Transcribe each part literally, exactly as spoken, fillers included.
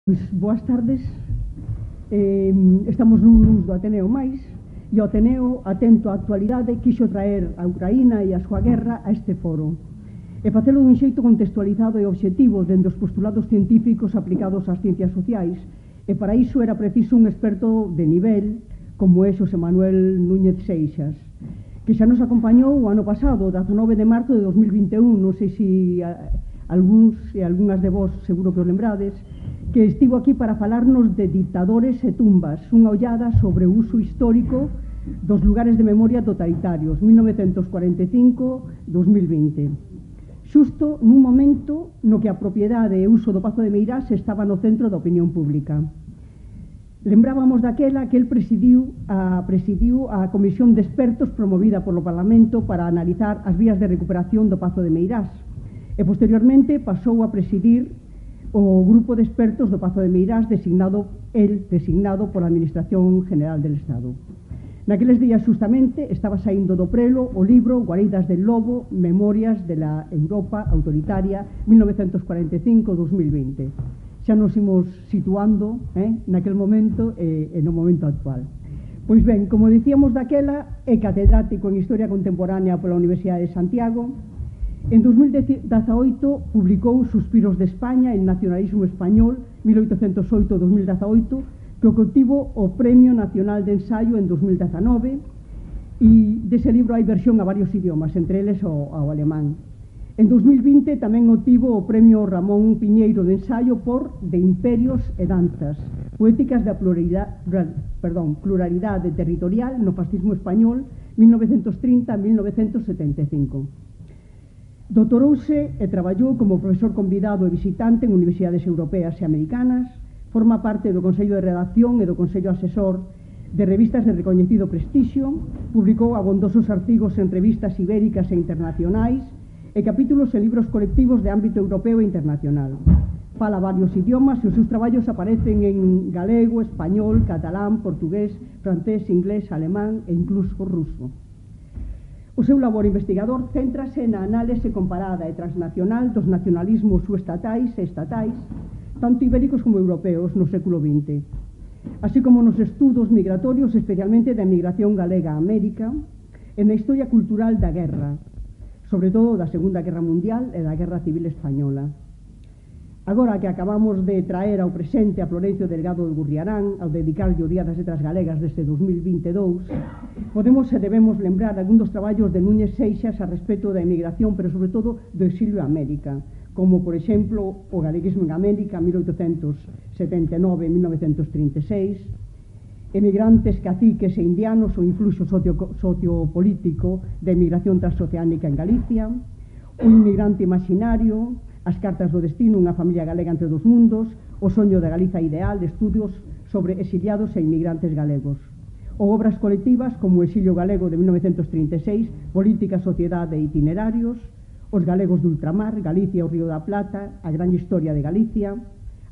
Pois, boas tardes. Eh, estamos nun luns do Ateneo máis, e o Ateneo, atento á actualidade, quixo traer a Ucraína e a súa guerra a este foro e facelo dun xeito contextualizado e obxectivo dende os postulados científicos aplicados ás ciencias sociais, e para iso era preciso un experto de nivel como é Xosé Manuel Núñez Seixas, que xa nos acompañou o ano pasado, dezanove de marzo de dos mil vinte e un. Non sei se a, algúns e algunhas de vos seguro que os lembrades, que estivo aquí para falarnos de dictadores e tumbas, unha ollada sobre o uso histórico dos lugares de memoria totalitarios, mil novecentos cuarenta e cinco a dos mil vinte. Xusto nun momento no que a propiedade e uso do Pazo de Meirás estaba no centro da opinión pública. Lembrábamos daquela que el presidiu a, presidiu a comisión de expertos promovida polo Parlamento para analizar as vías de recuperación do Pazo de Meirás, e posteriormente pasou a presidir o grupo de expertos do Pazo de Meirás designado, el designado pola Administración General del Estado. Naqueles días justamente estaba saindo do prelo o libro Guaridas del Lobo, Memorias de la Europa Autoritaria mil novecentos cuarenta e cinco a dos mil vinte. Xa nos imos situando eh, naquel momento e, e no momento actual. Pois ben, como dicíamos daquela, é catedrático en Historia Contemporánea pola Universidade de Santiago. En dos mil dezaoito publicou Suspiros de España, el nacionalismo español, mil oitocentos oito a dos mil dezaoito, que obtivo o Premio Nacional de Ensaio en dos mil dezanove, e dese libro hai versión a varios idiomas, entre eles o, o alemán. En dos mil vinte tamén obtivo o Premio Ramón Piñeiro de Ensaio por De Imperios e Danzas, poéticas da pluralidade, perdón, pluralidade territorial no fascismo español, mil novecentos trinta a mil novecentos setenta e cinco. Doutorouse e traballou como profesor convidado e visitante en universidades europeas e americanas, forma parte do Consello de Redacción e do Consello Asesor de revistas de recoñecido prestixio, publicou abondosos artigos en revistas ibéricas e internacionais e capítulos en libros colectivos de ámbito europeo e internacional. Fala varios idiomas e os seus traballos aparecen en galego, español, catalán, portugués, francés, inglés, alemán e incluso ruso. O seu labor investigador céntrase na análise comparada e transnacional dos nacionalismos subestatais e estatais, tanto ibéricos como europeos, no século vinte, así como nos estudos migratorios, especialmente da emigración galega a América, e na historia cultural da guerra, sobre todo da Segunda Guerra Mundial e da Guerra Civil Española. Agora que acabamos de traer ao presente a Florencio Delgado de Gurriarán ao dedicarlle o Día das Letras Galegas deste dos mil vinte e dous, podemos e debemos lembrar algún dos traballos de Núñez Seixas a respecto da emigración, pero sobre todo do exilio a América, como, por exemplo, o galeguismo en América, mil oitocentos setenta e nove a mil novecentos trinta e seis, emigrantes, caciques e indianos, o influxo socio, sociopolítico da emigración transoceánica en Galicia, un inmigrante imaginario, as cartas do destino, unha familia galega entre dos mundos, o soño da Galiza ideal, de estudios sobre exiliados e inmigrantes galegos, ou obras colectivas como o exilio galego de mil novecentos trinta e seis, política, sociedade e itinerarios, os galegos de ultramar, Galicia e o Río da Plata, a gran historia de Galicia,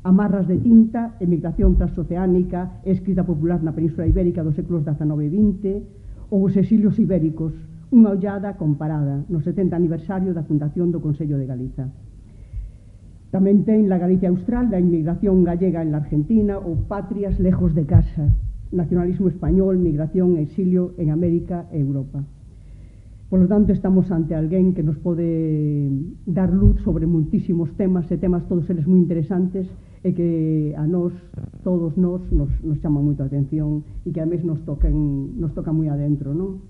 amarras de tinta, emigración transoceánica e escrita popular na Península Ibérica dos séculos dezanove e vinte, ou os exilios ibéricos, unha ollada comparada no setenta aniversario da fundación do Consello de Galiza. Tamén ten la Galicia Austral, da inmigración gallega en la Argentina, ou Patrias lejos de casa, nacionalismo español, migración e exilio en América e Europa. Por lo tanto, estamos ante alguén que nos pode dar luz sobre muitísimos temas, e temas todos eles moi interesantes, e que a nós, todos nós, nos, nos chama moito a atención, e que ademais nos tocan, nos toca moi adentro, non?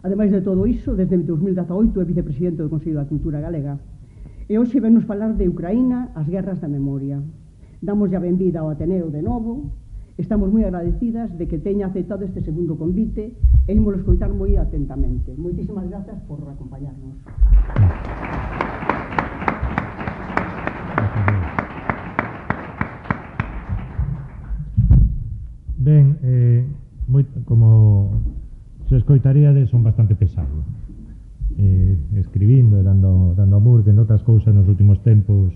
Ademais de todo iso, desde dos mil dezaoito é vicepresidente do Consello da Cultura Galega, e hoxe venos falar de Ucraína, as guerras da memoria. Damos a benvida ao Ateneo de novo, estamos moi agradecidas de que teña aceptado este segundo convite e ímolo escoitar moi atentamente. Moitísimas grazas por acompañarnos. Ben, eh, moi, como se escoitaríades, son bastante pesado. Eh, escribindo e dando, dando amor, que en outras cousas nos últimos tempos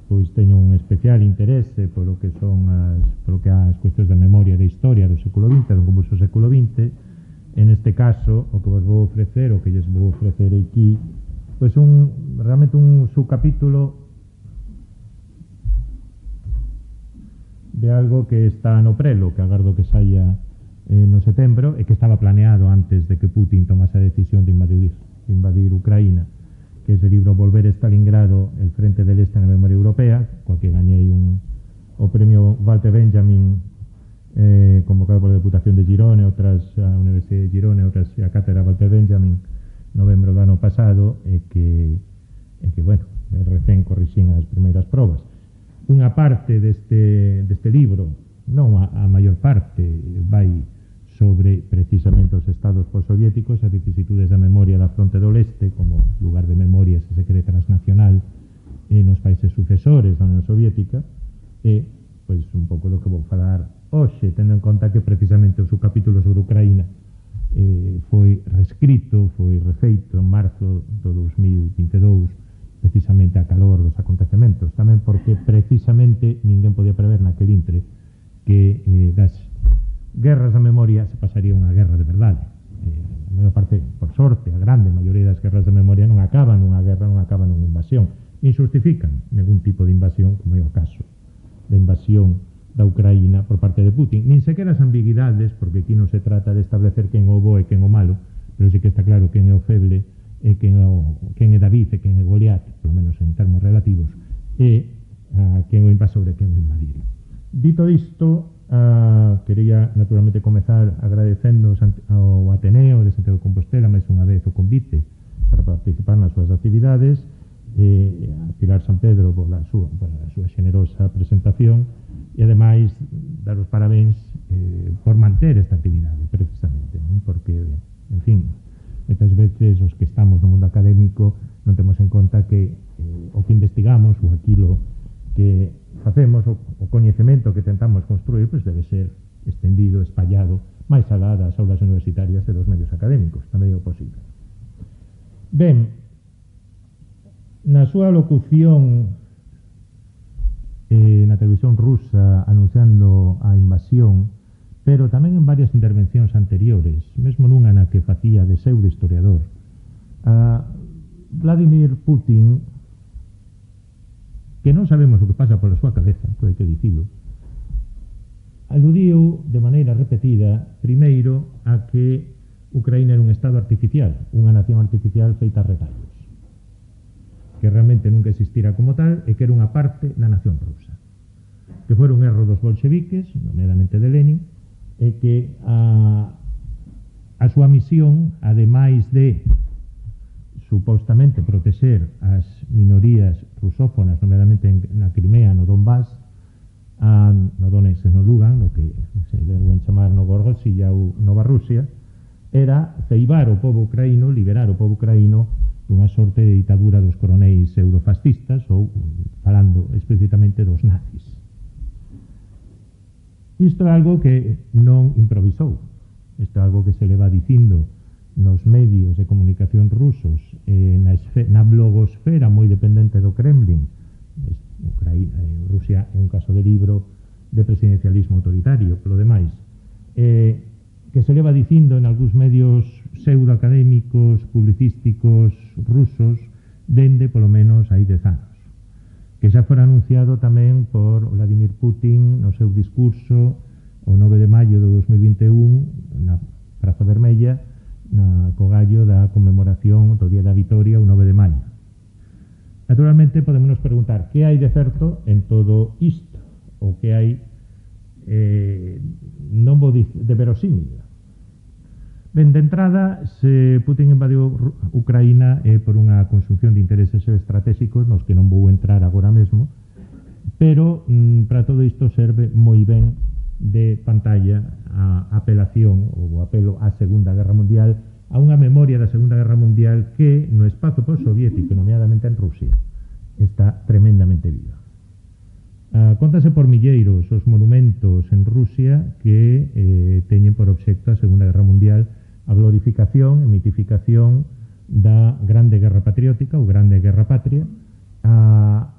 pois teño un especial interese polo que son as, polo que as cuestións de memoria e de historia do século vinte, do convulso século vinte. En este caso, o que vos vou ofrecer, o que lles vou ofrecer aquí, pois un, realmente un subcapítulo de algo que está no prelo, que agardo que saia eh, no setembro, e que estaba planeado antes de que Putin tomase a decisión de invadir, de invadir Ucraína, que é ese libro Volver a Stalingrado, el frente del este na memoria europea, coa que gañei un, o premio Walter Benjamin, eh, convocado pola Deputación de Girona, outras a Universidade de Girona, outras a Cátedra Walter Benjamin, novembro do ano pasado, e que, e que bueno, recén corrixín as primeiras probas. Unha parte deste, deste libro, non a, a maior parte, vai sobre precisamente os estados postsoviéticos, as vicisitudes da memoria da fronte do leste como lugar de memoria se se cree transnacional eh, nos países sucesores da Unión Soviética, e pois un pouco do que vou falar hoxe, tendo en conta que precisamente o subcapítulo sobre Ucraína eh, foi reescrito, foi refeito en marzo do dos mil vinte e dous, precisamente a calor dos acontecementos, tamén porque precisamente ninguén podía prever naquel intre que eh, das guerras da memoria se pasaría unha guerra de verdade. Eh, a maior parte, por sorte, a grande maioría das guerras de memoria non acaban nunha guerra, non acaban nunha invasión, nin justifican ningún tipo de invasión, como é o caso da invasión da Ucraína por parte de Putin, nin sequera as ambiguidades, porque aquí non se trata de establecer quen o bo e quen o malo, pero sí que está claro quen é o feble e quen é, o, quen é David e quen é Goliat, polo menos en termos relativos, e a quen o invasor e quen o invadido. Dito isto, uh, quería naturalmente comezar agradecendo ao Ateneo de Santiago de Compostela máis unha vez o convite para participar nas súas actividades, e a Pilar San Pedro pola súa, pola súa xenerosa presentación, e ademais dar os parabéns eh, por manter esta actividade precisamente, non? Porque, en fin, moitas veces os que estamos no mundo académico non temos en conta que eh, o que investigamos ou aquilo que facemos, o, o coñecemento que tentamos construir, pois debe ser estendido, espallado, máis alá das aulas universitarias e dos medios académicos, tamén é o posible. Ben, na súa locución eh, na televisión rusa anunciando a invasión, pero tamén en varias intervencións anteriores, mesmo nunha na que facía de pseudo historiador, a Vladimir Putin, que non sabemos o que pasa pola súa cabeza, pode que dicilo, aludiu de maneira repetida, primeiro, a que Ucraína era un estado artificial, unha nación artificial feita a retallos, que realmente nunca existira como tal e que era unha parte da nación rusa, que fora un erro dos bolcheviques, nomeadamente de Lenin, e que a, a súa misión, ademais de supostamente protexer as minorías rusófonas, nomeadamente en, na Crimea, no Donbass, a, no Donetsk e no Lugan, no que se deben chamar Novorossiya ou Nova Rusia, era ceibar o povo ucraíno, liberar o povo ucraíno dunha sorte de ditadura dos coronéis pseudofascistas ou, falando explícitamente, dos nazis. Isto é algo que non improvisou, isto é algo que se le va dicindo nos medios de comunicación rusos, eh, na, esfe, na blogosfera moi dependente do Kremlin. Ucraína, eh, Rusia é un caso de libro de presidencialismo autoritario, polo demais, eh, que se le va dicindo en algúns medios pseudoacadémicos, publicísticos rusos, dende polo menos hai dez anos, que xa fora anunciado tamén por Vladimir Putin no seu discurso o nove de maio do dos mil vinte e un na Praza Vermella, na cogallo da conmemoración do Día da Vitoria o nove de maio. Naturalmente podemos nos preguntar que hai de certo en todo isto, ou que hai eh, non vou dicir de verosímil. Ben, de entrada, se Putin invadiu Ucraína é por unha consunción de intereses estratégicos nos que non vou entrar agora mesmo, pero mm, para todo isto serve moi ben de pantalla a apelación ou apelo á Segunda Guerra Mundial, a unha memoria da Segunda Guerra Mundial que no espazo postsoviético, nomeadamente en Rusia, está tremendamente viva. Uh, contase por milleiros os monumentos en Rusia que eh, teñen por obxecto a Segunda Guerra Mundial, a glorificación e mitificación da Grande Guerra Patriótica ou Grande Guerra Patria, a,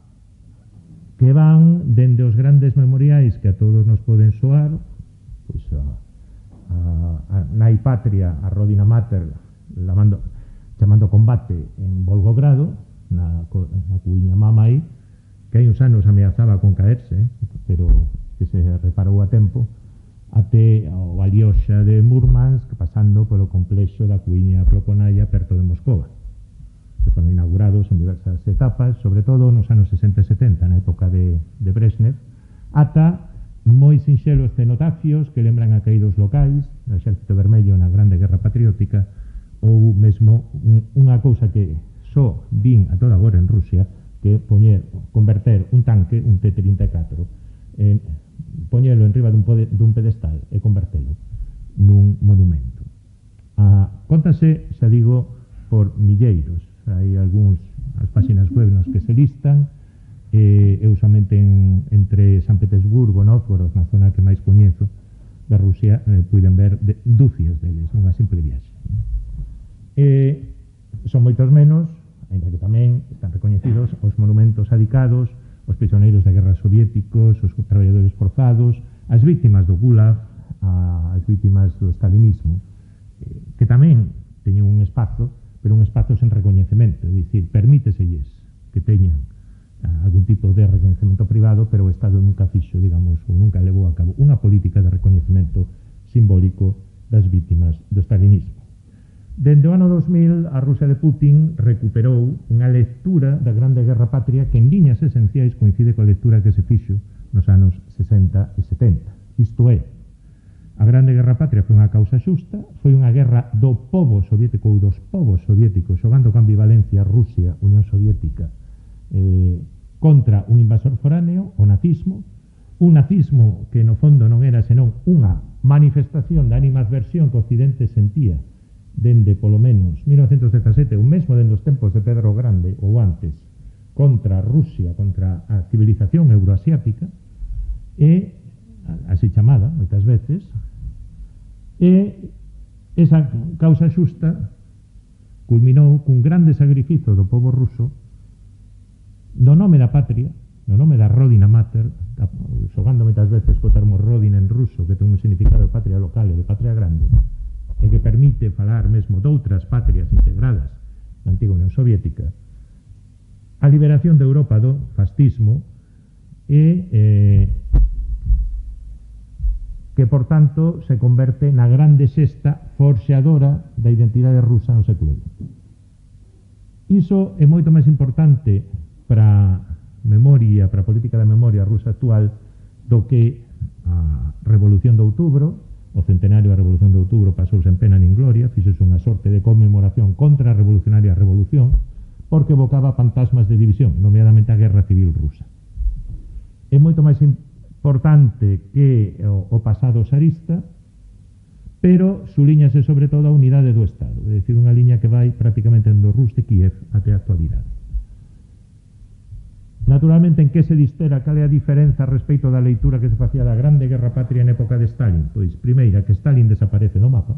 que van dende os grandes memoriais que a todos nos poden soar, pois a, a, a Nai Patria, a Rodina Mater, lamando, chamando combate en Volgogrado, na, na cuiña Mamai, que hai uns anos ameazaba con caerse, pero que se reparou a tempo, até o Alioxa de Murmansk, pasando polo complexo da Cuiña Ploconaia perto de Moscova, que foron inaugurados en diversas etapas, sobre todo nos anos sesenta e setenta, na época de, de Brezhnev, ata moi sinxelos cenotafios que lembran a caídos locais do Exército Vermello na Grande Guerra Patriótica, ou mesmo un, unha cousa que só vin a toda hora en Rusia, que poñer, converter un tanque, un T trinta e catro, en, poñelo en riba dun, pode, dun pedestal e convertelo nun monumento. Ah, contase, xa digo, por milleiros. Hai algúns as páxinas web nos que se listan, eh, eu somente en, entre San Petersburgo, Novgorod, na zona que máis coñezo da Rusia, eh, puiden ver de, dúcias deles nunha simple viaxe. Eh, son moitos menos, ainda que tamén están recoñecidos os monumentos adicados os prisioneiros da guerra soviéticos, os traballadores forzados, as vítimas do Gulag, as vítimas do stalinismo, eh, que tamén teñen un espazo, pero un espazo sen recoñecemento, é dicir, permíteselles que teñan uh, algún tipo de recoñecemento privado, pero o Estado nunca fixo, digamos, ou nunca levou a cabo unha política de recoñecemento simbólico das vítimas do stalinismo. Dende o ano dos mil, a Rusia de Putin recuperou unha lectura da Grande Guerra Patria que en liñas esenciais coincide coa lectura que se fixo nos anos sesenta e setenta. Isto é, a Grande Guerra Patria foi unha causa xusta, foi unha guerra do pobo soviético ou dos povos soviéticos xogando con ambivalencia Rusia, Unión Soviética, eh, contra un invasor foráneo, o nazismo, un nazismo que no fondo non era senón unha manifestación da animadversión que o Occidente sentía dende polo menos mil novecentos dezasete, ou mesmo dende os tempos de Pedro o Grande ou antes, contra Rusia, contra a civilización euroasiática, e así chamada, moitas veces, e esa causa xusta culminou cun grande sacrificio do pobo ruso no nome da patria, no nome da Rodina Mater, xogando moitas veces co termo Rodina en ruso, que ten un significado de patria local e de patria grande, e que permite falar mesmo doutras patrias integradas na antiga Unión Soviética, a liberación de Europa do fascismo e eh, que, por tanto, se converte na grande xesta forxadora da identidade rusa no século vinte. Iso é moito máis importante para a memoria, para a política da memoria rusa actual do que a Revolución de Outubro. O centenario da Revolución de Outubro pasouse en pena nin gloria, fixose unha sorte de conmemoración contra a revolucionaria revolución, porque evocaba fantasmas de división, nomeadamente a Guerra Civil Rusa. É moito máis importante que o, o pasado zarista, pero suliñase sobre todo a unidade do Estado, é dicir, unha liña que vai prácticamente do Rus de Kiev até a actualidade. Naturalmente, en que se distera, cal é a diferenza respecto da leitura que se facía da Grande Guerra Patria en época de Stalin? Pois, primeira, que Stalin desaparece do mapa,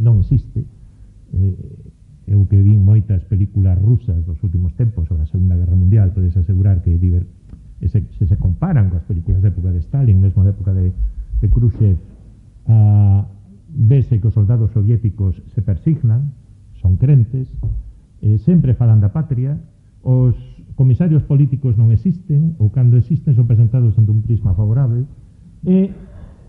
non existe. Eh, eu que vin moitas películas rusas dos últimos tempos sobre a Segunda Guerra Mundial, podes asegurar que diver, se, se se comparan coas películas de época de Stalin, mesmo de época de, de Khrushchev, ah, vese que os soldados soviéticos se persignan, son crentes, eh, sempre falan da patria. Os comisarios políticos non existen, ou cando existen son presentados dentro un prisma favorable, e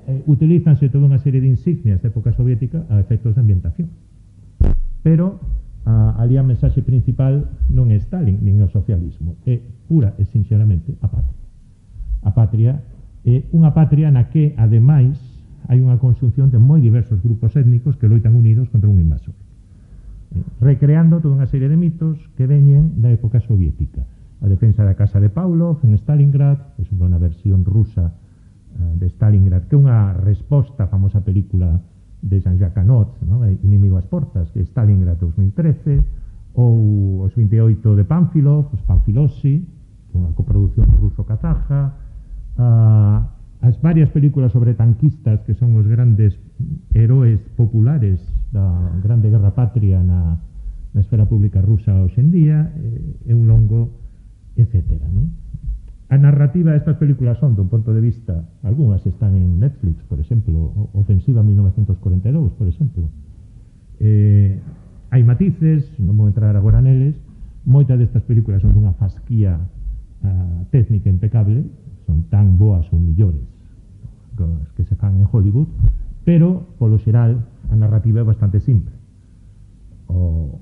eh, utilízanse toda unha serie de insignias de época soviética a efectos de ambientación. Pero a, ali a mensaxe principal non é Stalin, nin o socialismo, é pura e sinceramente a patria. A patria é unha patria na que, ademais, hai unha conxunción de moi diversos grupos étnicos que loitan unidos contra un invasor, recreando toda unha serie de mitos que veñen da época soviética. A defensa da casa de Pavlov en Stalingrad, por exemplo, na versión rusa uh, de Stalingrad, que é unha resposta á famosa película de Jean-Jacques Anot, ¿no? Inimigo ás portas, que é Stalingrad dos mil trece, ou os vinte e oito de Pánfilov, os Panfilosi, que é unha coproducción ruso-kazaja, uh, as varias películas sobre tanquistas que son os grandes heróis populares da Grande Guerra Patria na, na esfera pública rusa hoxe en día, é un longo etcétera, non? A narrativa destas películas son, dun ponto de vista, algunhas están en Netflix, por exemplo, Ofensiva mil novecientos cuarenta e dous, por exemplo. Eh, hai matices, non vou entrar agora neles, moitas destas películas son dunha fasquía uh, técnica impecable, son tan mellores que se fan en Hollywood, pero, polo xeral, a narrativa é bastante simple. O,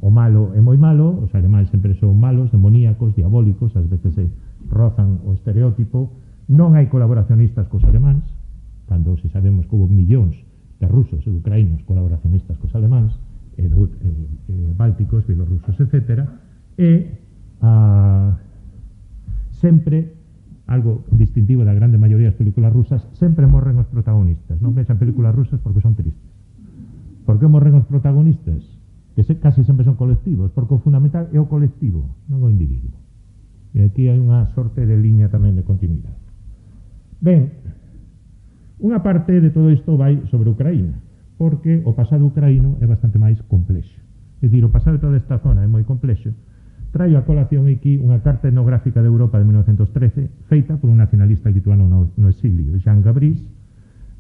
o malo é moi malo, os alemáns sempre son malos, demoníacos, diabólicos, ás veces se rozan o estereotipo, non hai colaboracionistas cos alemáns, cando se sabemos que houve millóns de rusos e ucraínos colaboracionistas cos alemáns, e, e, e bálticos, bielorrusos, etcétera, e a, sempre algo distintivo da grande maioría das películas rusas, sempre morren os protagonistas. Non vexan películas rusas porque son tristes. Por que morren os protagonistas? Que se, case sempre son colectivos, porque o fundamental é o colectivo, non o individuo. E aquí hai unha sorte de liña tamén de continuidade. Ben, unha parte de todo isto vai sobre Ucraína, porque o pasado ucraíno é bastante máis complexo. É dicir, o pasado de toda esta zona é moi complexo. Traio a colación aquí unha carta etnográfica de Europa de mil novecientos trece feita por un nacionalista lituano no, no exilio, Jan Gabrís,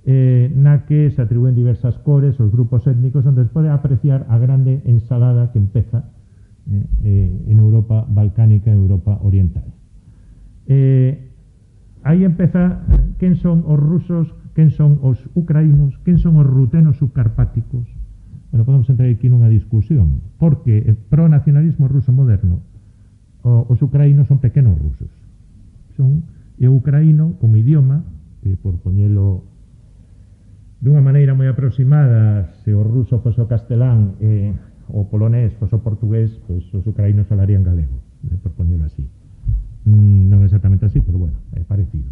eh, na que se atribúen diversas cores os grupos étnicos onde se pode apreciar a grande ensalada que empeza eh, eh, en Europa balcánica e Europa oriental. Eh, aí empeza quen son os rusos, quen son os ucraínos, quen son os rutenos subcarpáticos. Bueno, podemos entrar aquí nunha discusión, porque eh, pro nacionalismo ruso moderno o, os ucraínos son pequenos rusos. Son e o ucraíno como idioma, que por poñelo dunha maneira moi aproximada, se o ruso fose o castelán e o polonés fose o portugués, pois os ucraínos falarían galego, eh, por poñelo así. Mm, non exactamente así, pero bueno, é parecido.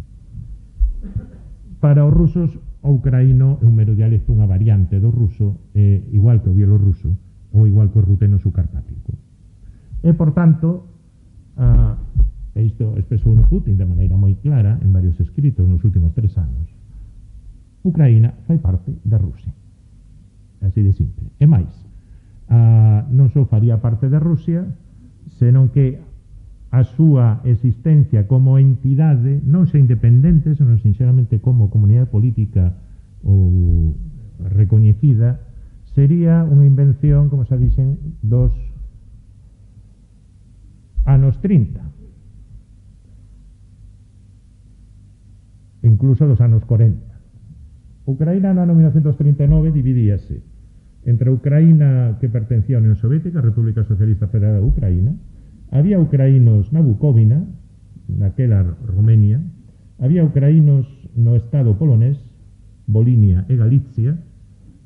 Para os rusos, o ucraíno é un mero dialecto, unha variante do ruso, eh, igual que o bielorruso, ou igual que o ruteno subcarpático. E, por tanto, ah, isto expresou no Putin de maneira moi clara en varios escritos nos últimos tres anos. Ucraína fai parte da Rusia. Así de simple. E máis, ah, non só faría parte da Rusia, senón que a súa existencia como entidade, non xa independente, senón sinceramente como comunidade política ou recoñecida, sería unha invención, como se dicen, dos anos trinta. Incluso dos anos cuarenta. Ucraína no ano mil novecientos trinta e nove dividíase entre a Ucraína que pertencía á Unión Soviética, a República Socialista Federal de Ucraína. Había ucraínos na Bucóvina, naquela Romenia, había ucraínos no estado polonés, Volinia e Galicia,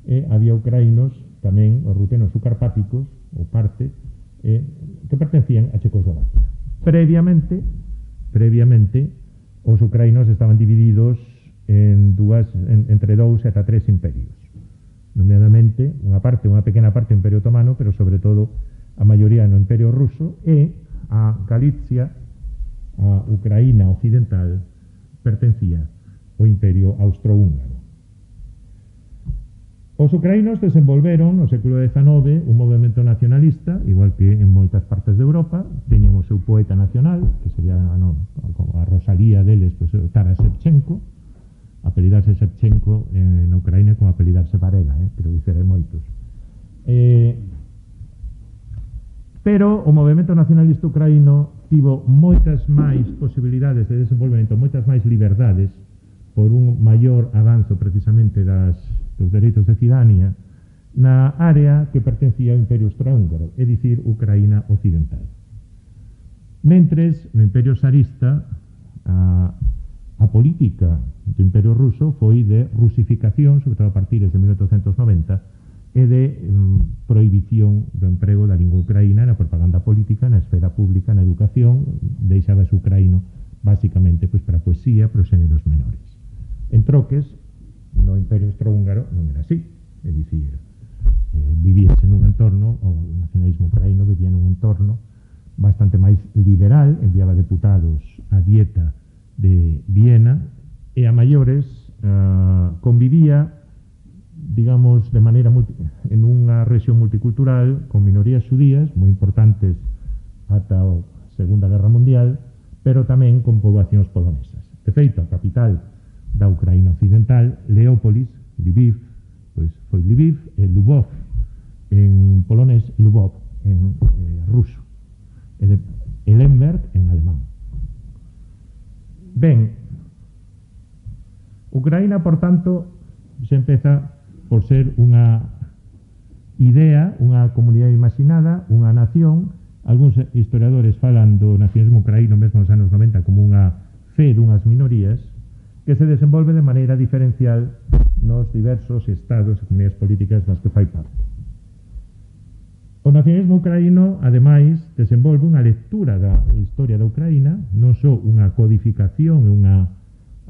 e había ucraínos tamén os rutenos subcarpáticos, ou parte, eh, que pertencían a Checoslovaquia. Previamente, previamente, os ucraínos estaban divididos en dúas, en, entre dous e ata tres imperios. Nomeadamente, unha parte, unha pequena parte do Imperio Otomano, pero sobre todo a maioría no Imperio Ruso, e a Galicia, a Ucraína occidental, pertencía ao Imperio Austrohúngaro. Os ucraínos desenvolveron no século dezenove un movimento nacionalista, igual que en moitas partes de Europa, teñen o seu poeta nacional, que sería a, no, a Rosalía deles, pues, Taras Shevchenko, apelidarse Shevchenko en Ucraína como apelidarse Varela, eh, pero dicer hai moitos. Eh, Pero o movimento nacionalista ucraíno tivo moitas máis posibilidades de desenvolvemento, moitas máis liberdades por un maior avanzo precisamente das, dos dereitos de cidadanía na área que pertencía ao Imperio Austrohúngaro, é dicir, Ucraína occidental. Mentres, no Imperio Tsarista, a, a política do Imperio Ruso foi de rusificación, sobre todo a partir de mil oitocentos noventa, e de um, prohibición do emprego da lingua ucraína na propaganda política, na esfera pública, na educación, deixabas ucraíno basicamente pois, para a poesía, para os xéneros menores. En troques, no Imperio Austrohúngaro non era así, é dicir, eh, vivíase nun entorno, o nacionalismo ucraíno vivía nun entorno bastante máis liberal, enviaba deputados a dieta de Viena, e a maiores uh, convivía digamos, de maneira multi, en unha rexión multicultural con minorías xudías moi importantes ata a Segunda Guerra Mundial, pero tamén con poboacións polonesas. De feito, a capital da Ucraína occidental, Leópolis, Lviv, pois foi Lviv e Lubov en polonés, Lubov en eh, ruso, e Lemberg en alemán. Ben, Ucraína, por tanto, se empeza por ser unha idea, unha comunidade imaginada, unha nación. Algúns historiadores falan do nacionalismo ucraíno mesmo nos anos noventa como unha fe dunhas minorías que se desenvolve de maneira diferencial nos diversos estados e comunidades políticas das que fai parte. O nacionalismo ucraíno, ademais, desenvolve unha lectura da historia da Ucraína, non só unha codificación e unha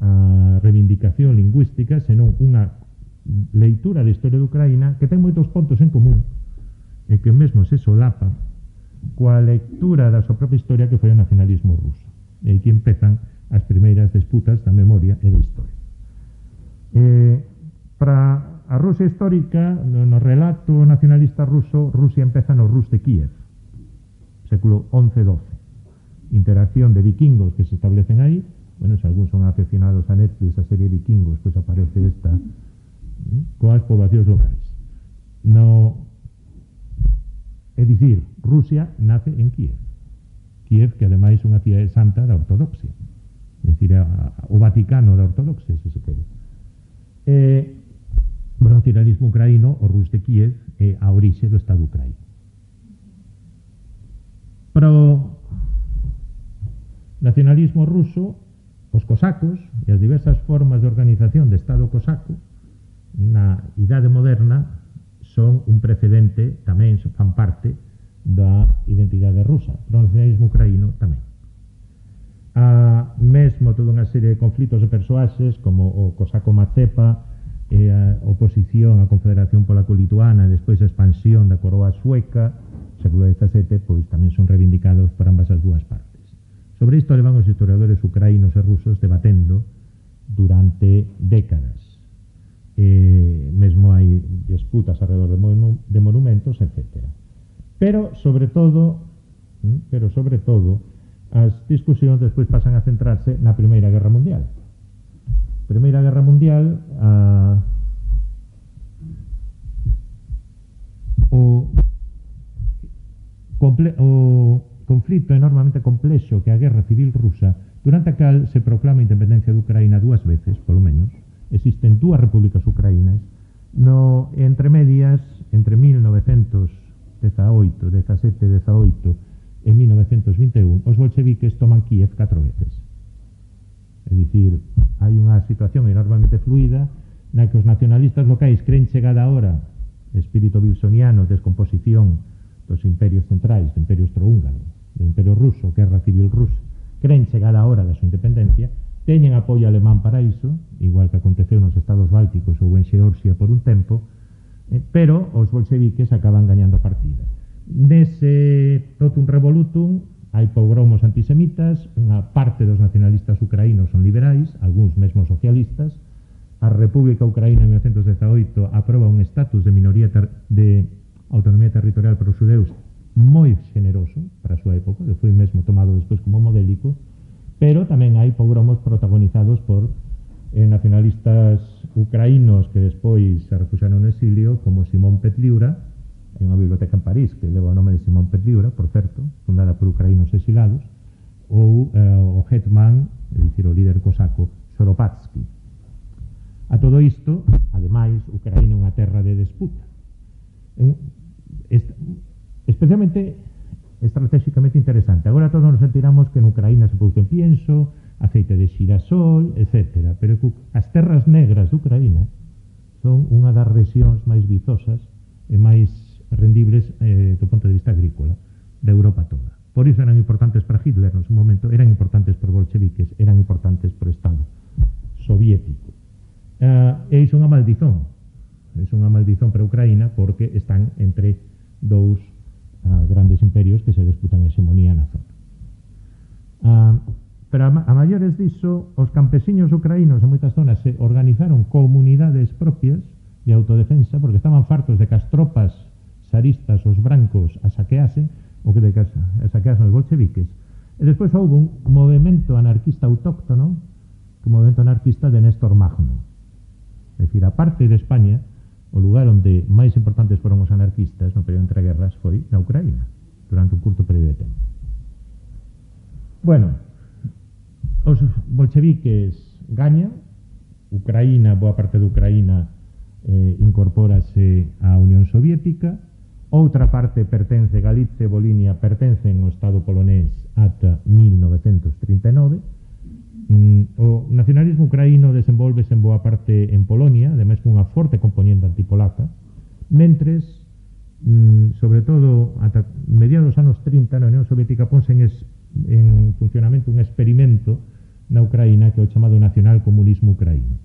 a reivindicación lingüística, senón unha leitura da historia de Ucraína que ten moitos pontos en común e que mesmo se solapa coa lectura da súa propia historia que foi o nacionalismo ruso. E aquí empezan as primeiras disputas da memoria e da historia. Eh, para a Rusia histórica, no, no relato nacionalista ruso, Rusia empeza no Rus de Kiev, século once doce. Interacción de vikingos que se establecen aí. Bueno, se algúns son aficionados a Netflix, a serie Vikingos, pois aparece esta coas poboacións locais. No, é dicir, Rusia nace en Kiev. Kiev, que ademais é unha cidade santa da ortodoxia. É dicir, a, a, o Vaticano da ortodoxia, se se quere. Eh, o nacionalismo ucraíno, o Rus de Kiev, é a orixe do Estado ucraíno. Para o nacionalismo ruso, os cosacos e as diversas formas de organización de Estado cosaco na idade moderna son un precedente, tamén fan parte da identidade rusa, pero o nacionalismo ucraíno tamén. A mesmo toda unha serie de conflitos de persoaxes como o cosaco Mazepa e a oposición á confederación polaco-lituana e despois a expansión da coroa sueca, século dezasete, pois tamén son reivindicados por ambas as dúas partes. Sobre isto levan os historiadores ucraínos e rusos debatendo durante décadas. Eh, mesmo hai disputas alrededor de, monu de monumentos, etcétera. Pero, sobre todo, pero sobre todo, as discusións despois pasan a centrarse na Primeira Guerra Mundial. Primeira Guerra Mundial, a, o, comple, o conflito enormemente complexo que a Guerra Civil Rusa, durante a cal se proclama a independencia de Ucraína dúas veces, polo menos. Existen dúas repúblicas ucraínas. No, entre medias, entre mil novecentos dezaoito, dezasete, dezaoito e mil novecentos vinte e un, os bolcheviques toman Kiev catro veces. É dicir, hai unha situación enormemente fluida na que os nacionalistas locais creen chegada a hora, espírito wilsoniano, descomposición dos imperios centrais, do imperio austrohúngaro, do imperio ruso, guerra civil rusa, creen chegar a hora da súa independencia, teñen apoio alemán para iso, igual que aconteceu nos estados bálticos ou en Xeorxia por un tempo, eh, pero os bolcheviques acaban gañando a partida. Nese totum revolutum hai pogromos antisemitas, unha parte dos nacionalistas ucraínos son liberais, algúns mesmos socialistas. A República Ucraína en mil novecentos dezaoito aproba un estatus de minoría de autonomía territorial para os xudeus moi generoso para a súa época, que foi mesmo tomado despois como modélico, pero tamén hai pogromos protagonizados por eh, nacionalistas ucraínos que despois se refuxaron no exilio, como Simón Petliura. Hai unha biblioteca en París que leva o nome de Simón Petliura, por certo, fundada por ucraínos exilados, ou eh, o Hetman, é dicir, o líder cosaco Skoropadsky. A todo isto, ademais, Ucraína é unha terra de disputa. Un, est, especialmente estratégicamente interesante. Agora todos nos sentiramos que en Ucraína se produce pienso, aceite de xirasol, etcétera. Pero as terras negras de Ucraína son unha das rexións máis vizosas e máis rendibles eh, do ponto de vista agrícola da Europa toda. Por iso eran importantes para Hitler no seu momento, eran importantes para os bolcheviques, eran importantes para o Estado soviético. Uh, e iso é unha maldizón. É unha maldizón para Ucraína porque están entre dous uh, grandes imperios que se disputan a hexemonía na zona. Uh, pero a, a maiores diso, os campesiños ucraínos en moitas zonas se organizaron comunidades propias de autodefensa porque estaban fartos de que as tropas zaristas, os brancos, a saqueasen, ou que de que a saqueasen os bolcheviques. E despois houve un movimento anarquista autóctono, que o movimento anarquista de Néstor Magno. É dicir, a parte de España, o lugar onde máis importantes foron os anarquistas no período entre guerras foi na Ucraína, durante un curto período de tempo. Bueno, os bolcheviques gañan, Ucraína, boa parte de Ucraína eh, incorpórase á Unión Soviética, outra parte pertence, Galicia e Volinia pertencen ao Estado polonés ata mil novecentos trinta e nove. Mm, o nacionalismo ucraíno desenvolvese en boa parte en Polonia, ademais cunha forte componente antipolaca, mentres, mm, sobre todo, ata mediados dos anos trinta, na Unión Soviética ponse en, es, en funcionamento un experimento na Ucraína que é o chamado nacional-comunismo ucraíno.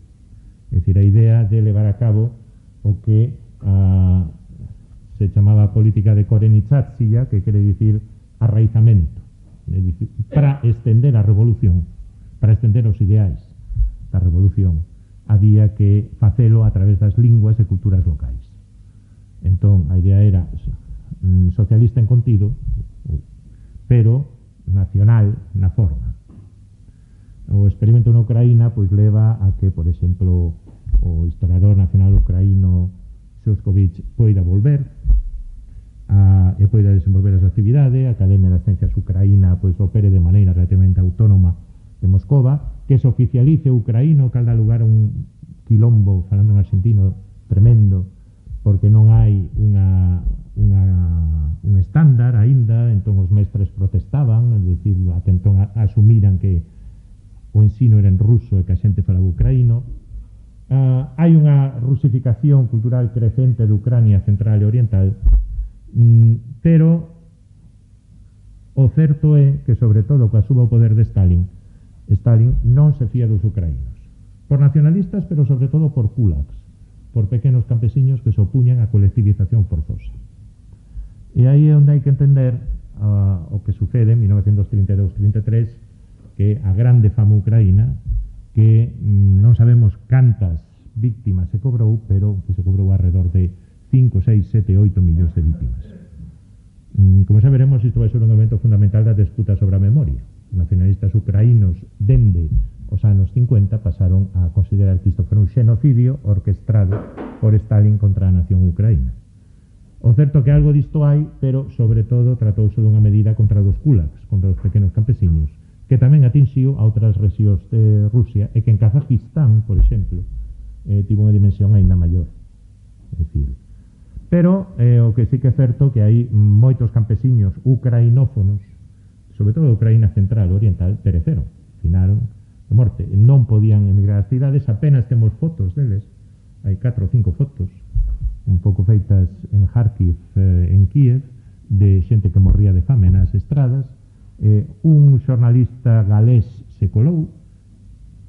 É dicir, a idea de levar a cabo o que a se chamaba política de Korenitsatsiya, que quere dicir arraizamento, é dicir, para estender a revolución, para estender os ideais da revolución, había que facelo a través das linguas e culturas locais. Entón, a idea era mm, socialista en contido, pero nacional na forma. O experimento na Ucraína pois leva a que, por exemplo, o historiador nacional ucraíno Shostakovich poida volver a, e poida desenvolver a súa actividade. A Academia das Ciencias Ucraína pois opere de maneira relativamente autónoma de Moscova, que se oficialice o ucraíno, que dá lugar a un quilombo, falando en argentino, tremendo, porque non hai unha, unha, un estándar aínda. Entón os mestres protestaban, é dicir, atentón a, asumiran que o ensino era en ruso e que a xente falaba ucraíno. Uh, hai unha rusificación cultural crecente de Ucrania central e oriental, mm, pero o certo é que, sobre todo, coa suba ao poder de Stalin, Stalin non se fía dos ucraínos, por nacionalistas, pero sobre todo por kulaks, por pequenos campesiños que se opuñan á colectivización forzosa. E aí é onde hai que entender uh, o que sucede en mil novecentos trinta e dous trinta e tres, que a grande fama ucraína, que mm, non sabemos cantas víctimas se cobrou, pero que se cobrou alrededor de cinco, seis, sete, oito millóns de víctimas. Mm, como xa veremos, isto vai ser un evento fundamental da disputa sobre a memoria. Os nacionalistas ucraínos, dende os anos cincuenta, pasaron a considerar que isto foi un xenocidio orquestrado por Stalin contra a nación ucraína. O certo que algo disto hai, pero sobre todo tratouse dunha medida contra os kulaks, contra os pequenos campesiños, que tamén atinxiu a outras rexións de Rusia, e que en Kazajistán, por exemplo, eh, tivo unha dimensión aínda maior. É dicir, pero eh, o que sí que é certo que hai moitos campesiños ucrainófonos, sobre todo de Ucraína central e oriental, pereceron, finaron de morte. Non podían emigrar ás cidades, apenas temos fotos deles, hai catro ou cinco fotos, un pouco feitas en Kharkiv, eh, en Kiev, de xente que morría de fame nas estradas. Eh, un xornalista galés se colou,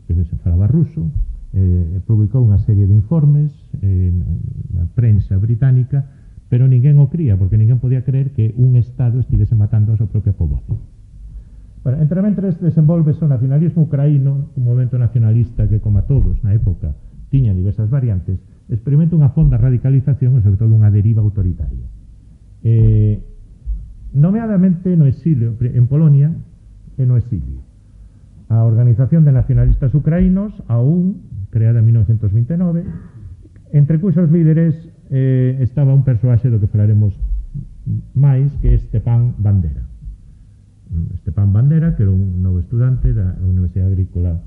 que se falaba ruso, eh, publicou unha serie de informes eh, na prensa británica, pero ninguén o cría, porque ninguén podía creer que un Estado estivese matando a súa propia poboación. Bueno, entre mentres desenvolvese o nacionalismo ucraíno, un movimento nacionalista que, como a todos na época, tiña diversas variantes, experimenta unha fonda radicalización e, sobre todo, unha deriva autoritaria. Eh, nomeadamente no exilio, en Polonia e no exilio. A Organización de Nacionalistas Ucraínos, a U N, creada en mil novecentos vinte e nove, entre cuxos líderes eh, estaba un persoaxe do que falaremos máis, que é Stepan Bandera. Stepan Bandera, que era un novo estudante da Universidade Agrícola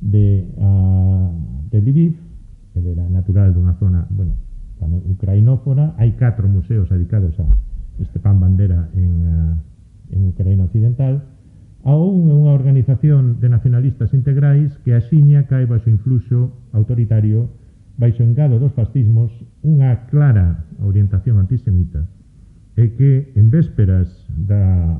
de, uh, de Lviv. Ele era natural dunha zona, bueno, ucrainófona. Hai catro museos dedicados a Stepan Bandera en, uh, en Ucraína Occidental. A O U N é unha organización de nacionalistas integrais que axiña cae baixo influxo autoritario, baixo engado dos fascismos, unha clara orientación antisemita, e que en vésperas da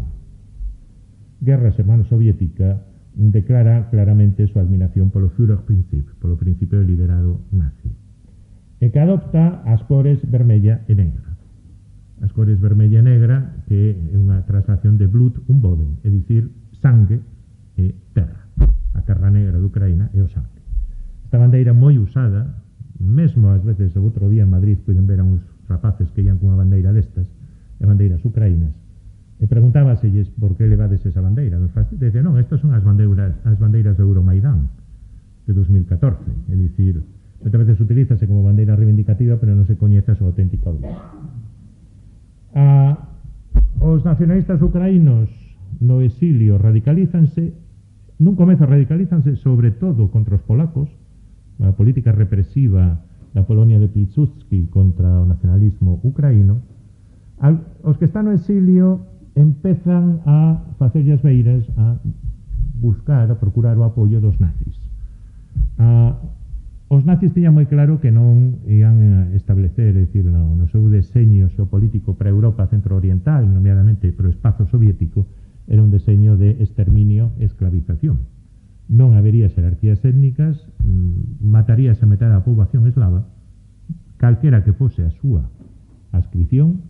Guerra Germano-Soviética declara claramente súa admiración polo Führerprinzip, polo principio de liderado nazi, e que adopta as cores vermella e negra. As cores vermella e negra, que é unha traslación de Blut und Boden, é dicir, sangue e terra. A terra negra de Ucraína é o sangue. Esta bandeira moi usada, mesmo ás veces o outro día en Madrid poden ver a uns rapaces que ian cunha bandeira destas, e bandeiras ucraínas, e preguntábaselles por que levades esa bandeira. Nos fascistas dicen, non, estas son as bandeiras, as bandeiras de Euromaidán de dos mil catorce, é dicir, moitas veces utilízase como bandeira reivindicativa, pero non se coñece a súa auténtica origen. Ah, os nacionalistas ucraínos no exilio radicalízanse, nun comezo radicalízanse sobre todo contra os polacos, a política represiva da Polonia de Pilsudski contra o nacionalismo ucraíno, al, os que están no exilio empezan a facer as beiras a buscar, a procurar o apoio dos nazis. A, os nazis tiñan moi claro que non ian establecer, é dicir, no, no seu deseño xeopolítico para a Europa centro-oriental, nomeadamente para o espazo soviético, era un deseño de exterminio e esclavización. Non habería xerarquías étnicas, mmm, mataríase a metade da poboación eslava, calquera que fose a súa adscripción,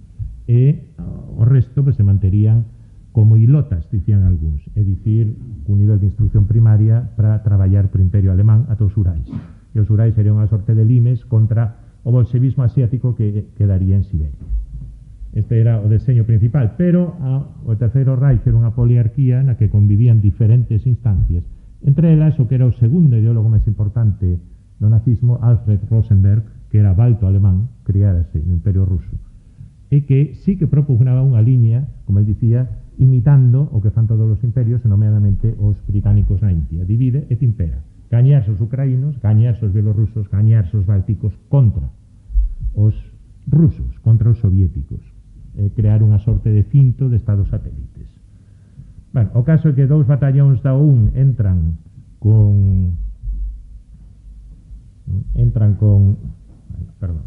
e o resto pues, se manterían como ilotas, dicían algúns, é dicir, un nivel de instrucción primaria para traballar por Imperio Alemán ata os Urais. E os Urais serían unha sorte de limes contra o bolsevismo asiático que quedaría en Siberia. Este era o deseño principal, pero a, o Terceiro Reich era unha poliarquía na que convivían diferentes instancias, entre elas o que era o segundo ideólogo máis importante do nazismo, Alfred Rosenberg, que era balto alemán, criárase no Imperio Ruso, e que sí que propugnaba unha liña, como él dicía, imitando o que fan todos os imperios, e nomeadamente os británicos na India. Divide et impera. Gañarse os ucraínos, gañarse os bielorrusos, gañarse os bálticos contra os rusos, contra os soviéticos. Eh, crear unha sorte de cinto de estados satélites. Bueno, o caso é que dous batallóns da O U N entran con entran con perdón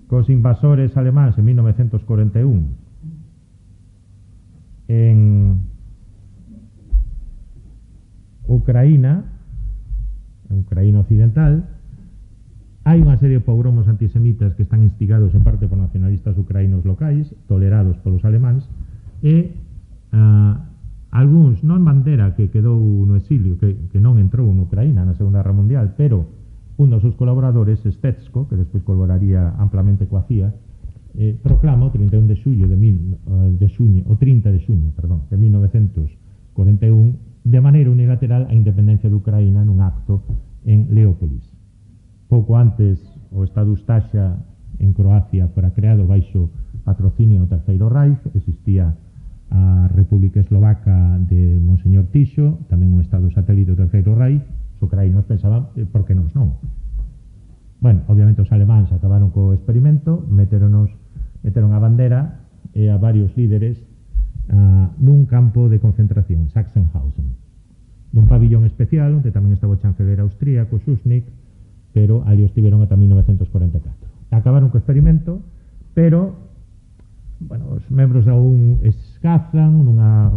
cos invasores alemáns en mil novecentos cuarenta e un en Ucraína, en Ucraína occidental. Hai unha serie de pogromos antisemitas que están instigados en parte por nacionalistas ucraínos locais, tolerados polos alemáns, e uh, algúns, non Bandera, que quedou no exilio, que, que non entrou en Ucraína na Segunda Guerra Mundial, pero un dos seus colaboradores, Stetsko, que despois colaboraría amplamente coa C I A, eh, proclama o trinta e un de xullo de, mil, uh, de xuño, o trinta de xuño, perdón, de mil novecentos cuarenta e un, de maneira unilateral a independencia de Ucraína nun acto en Leópolis. Pouco antes, o Estado Ustasha en Croacia fora creado baixo patrocinio do Terceiro Reich, existía a República Eslovaca de Monseñor Tiso, tamén un Estado satélite do Terceiro Reich. Os ucraínos pensaban, eh, por que nos non? Bueno, obviamente os alemáns acabaron co experimento, meteronos, meteron a bandera e a varios líderes uh, nun campo de concentración, Sachsenhausen, nun pabillón especial, onde tamén estaba o chanceler austríaco, Schuschnigg, pero ali os tiveron ata mil novecentos cuarenta e catro. Acabaron co experimento, pero bueno, os membros da O U N escazan nunha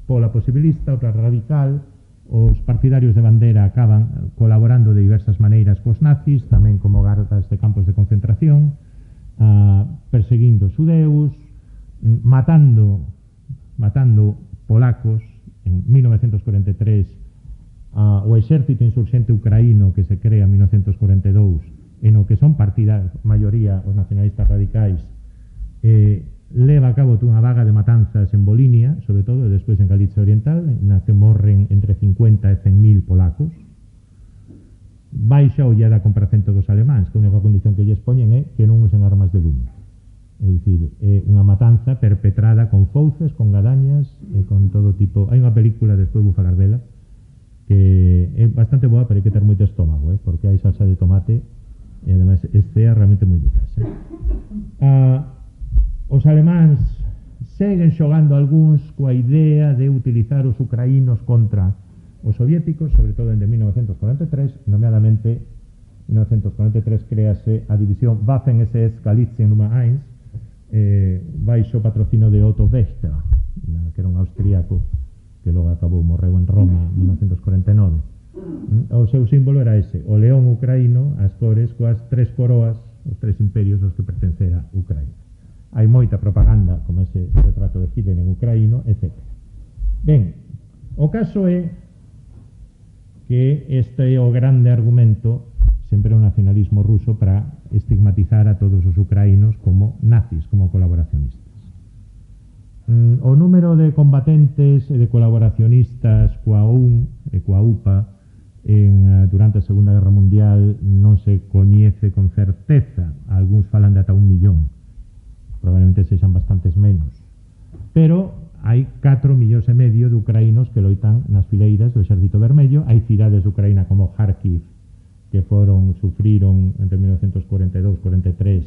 pola posibilista, outra radical. Os partidarios de Bandera acaban colaborando de diversas maneiras cos nazis, tamén como gardas de campos de concentración, uh, perseguindo xudeus, matando matando polacos. En mil novecentos cuarenta e tres Uh, o exército insurxente ucraíno que se crea en mil novecentos cuarenta e dous, en o que son partida maioría os nacionalistas radicais, eh, leva a cabo unha vaga de matanzas en Volinia, sobre todo, e despois en Galicia Oriental, na que morren entre cincuenta e cen mil polacos. Baixa a ollada compracento dos alemáns, que a única condición que lles poñen é que non usen armas de lume. É dicir, é unha matanza perpetrada con fouces, con gadañas e con todo tipo. Hai unha película, despois vou falar dela, que é bastante boa, pero hai que ter moito estómago, eh? Porque hai salsa de tomate e ademais estea realmente moi duras. Eh? Uh, os alemáns seguen xogando algúns coa idea de utilizar os ucraínos contra os soviéticos, sobre todo en de mil novecentos cuarenta e tres, nomeadamente en mil novecentos cuarenta e tres créase a división Waffen-S S Galizien Nummer eins, eh, baixo patrocino de Otto Wächter, que era un austríaco que logo acabou, morreu en Roma en mil novecentos cuarenta e nove. O seu símbolo era ese, o león ucraíno, as cores coas tres coroas, os tres imperios aos que pertencera Ucraína. Hai moita propaganda, como ese retrato de Hitler en ucraíno, etcétera. Ben, o caso é que este é o grande argumento sempre o nacionalismo ruso para estigmatizar a todos os ucraínos como nazis, como colaboracionistas. O número de combatentes e de colaboracionistas coa O U N e coa U P A en, durante a Segunda Guerra Mundial non se coñece con certeza. Algúns falan de ata un millón, probablemente sexan bastantes menos. pero hai catro millóns e medio de ucraínos que loitan nas fileiras do Exército Vermello. Hai cidades de Ucraína como Kharkiv que foron, sufriron entre mil novecientos cuarenta e dous e cuarenta e tres,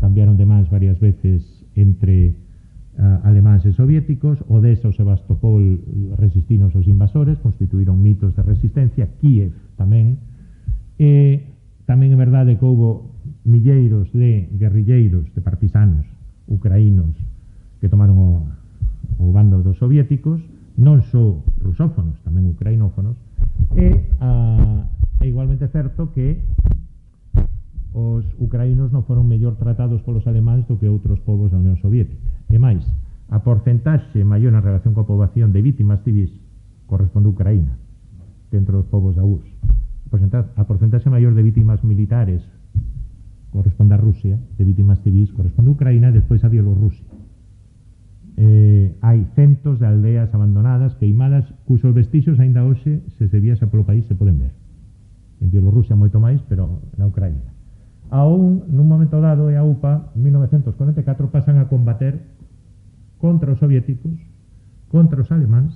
cambiaron de mans varias veces entre uh, alemáns e soviéticos. Odessa ou Sebastopol resistiron aos invasores, constituíron mitos de resistencia. Kiev tamén. E tamén é verdade que houbo milleiros de guerrilleiros, de partisanos ucraínos que tomaron o, o bando dos soviéticos, non só rusófonos, tamén ucrainófonos. E a É igualmente certo que os ucraínos non foron mellor tratados polos alemáns do que outros povos da Unión Soviética. E máis, a porcentaxe maior en relación coa poboación de vítimas civis corresponde a Ucraína, dentro dos povos da U R S S. A porcentaxe maior de vítimas militares corresponde a Rusia, de vítimas civis corresponde a Ucraína, e despois a Bielorrusia. Eh, hai centos de aldeas abandonadas, queimadas, cusos vestixios aínda hoxe, se se viaxa polo país, se poden ver. En Bielorrusia moito máis, pero na Ucraína. Aún, nun momento dado, e a U P A, en mil novecientos cuarenta e catro, pasan a combater contra os soviéticos, contra os alemáns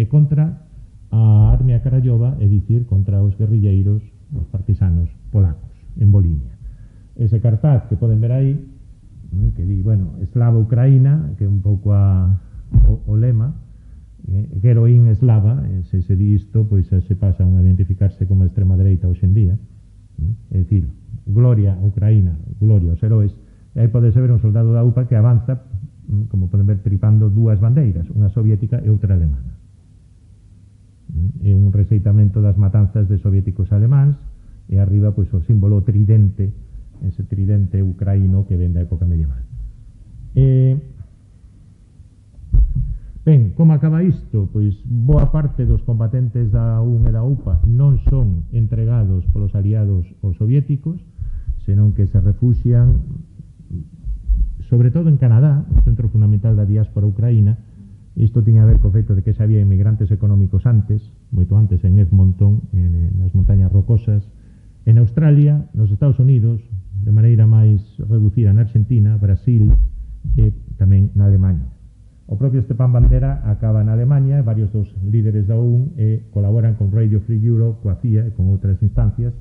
e contra a Armia Karayova, é dicir, contra os guerrilleiros, os partisanos polacos, en Volinia. Ese cartaz que poden ver aí, que di, bueno, Eslava Ucraína, que é un pouco a, o, o lema, Eh, heroín eslava, eh, se se di isto, pois se pasa a identificarse como extrema dereita hoxe en día. Eh, é dicir, gloria a Ucraína, gloria aos heróis. E aí podese ver un soldado da U P A que avanza, como poden ver, tripando dúas bandeiras, unha soviética e outra alemana. É un rexeitamento das matanzas de soviéticos alemáns, e arriba pois o símbolo tridente, ese tridente ucraíno que ven da época medieval. Eh, Ben, como acaba isto? Pois boa parte dos combatentes da U N e da U P A non son entregados polos aliados aos soviéticos, senón que se refuxian sobre todo en Canadá, o centro fundamental da diáspora ucraína. Isto tiña a ver co feito de que xa había inmigrantes económicos antes, moito antes en Edmonton, en, nas montañas rocosas, en Australia, nos Estados Unidos, de maneira máis reducida na Argentina, Brasil e tamén na Alemanha. O propio Stepan Bandera acaba na Alemanha, e varios dos líderes da O U N e colaboran con Radio Free Europe, coa C I A e con outras instancias.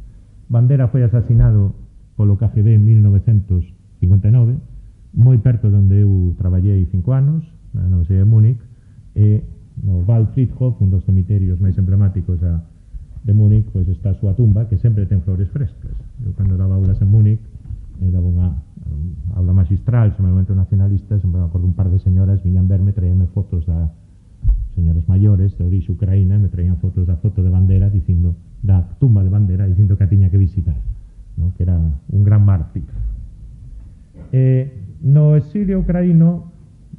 Bandera foi asasinado polo K G B en mil novecientos cincuenta e nove, moi perto de onde eu traballei cinco anos, na Universidade de Múnich, e no Waldfriedhof, un dos cemiterios máis emblemáticos a, de Múnich, pois está a súa tumba, que sempre ten flores frescas. Eu, cando daba aulas en Múnich, eh, daba unha aula magistral, sobre o movimento nacionalista, sempre me acordo un par de señoras viñan verme, traíanme fotos da señoras maiores de orixe ucraína, me traían fotos da foto de Bandera, dicindo, da tumba de Bandera, dicindo que a tiña que visitar, ¿no? Que era un gran mártir. Eh, no exilio ucraíno,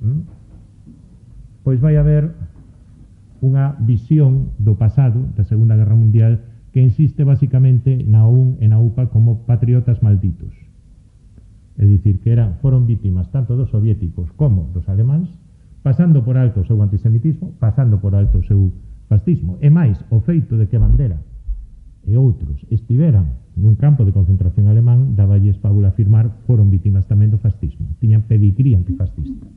¿m? pois vai haber unha visión do pasado da Segunda Guerra Mundial que insiste basicamente na O U N e na U P A como patriotas malditos. É dicir, que eran, foron vítimas tanto dos soviéticos como dos alemáns, pasando por alto o seu antisemitismo, pasando por alto o seu fascismo. E máis, o feito de que Bandera e outros estiveran nun campo de concentración alemán, daballes Paula afirmar, foron vítimas tamén do fascismo. Tiñan pedigrí antifascista.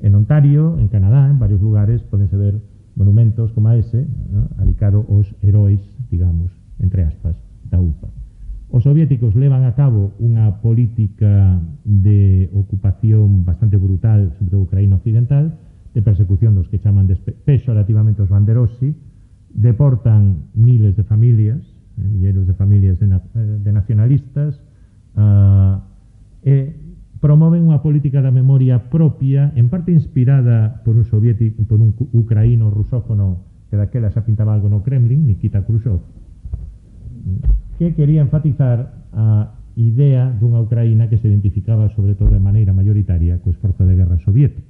En Ontario, en Canadá, en varios lugares, podense ver monumentos como ese, ¿no? Dedicado aos heróis, digamos, entre aspas, da U P A. Os soviéticos levan a cabo unha política de ocupación bastante brutal sobre a Ucraína occidental, de persecución dos que chaman peyorativamente os banderossi, deportan miles de familias, eh, milleiros de familias de, na, de nacionalistas, uh, e promoven unha política da memoria propia, en parte inspirada por un soviético, por un ucraíno rusófono que daquela xa pintaba algo no Kremlin, Nikita Khrushchev, que quería enfatizar a idea dunha Ucraína que se identificaba sobre todo de maneira mayoritaria co esforzo de guerra soviético.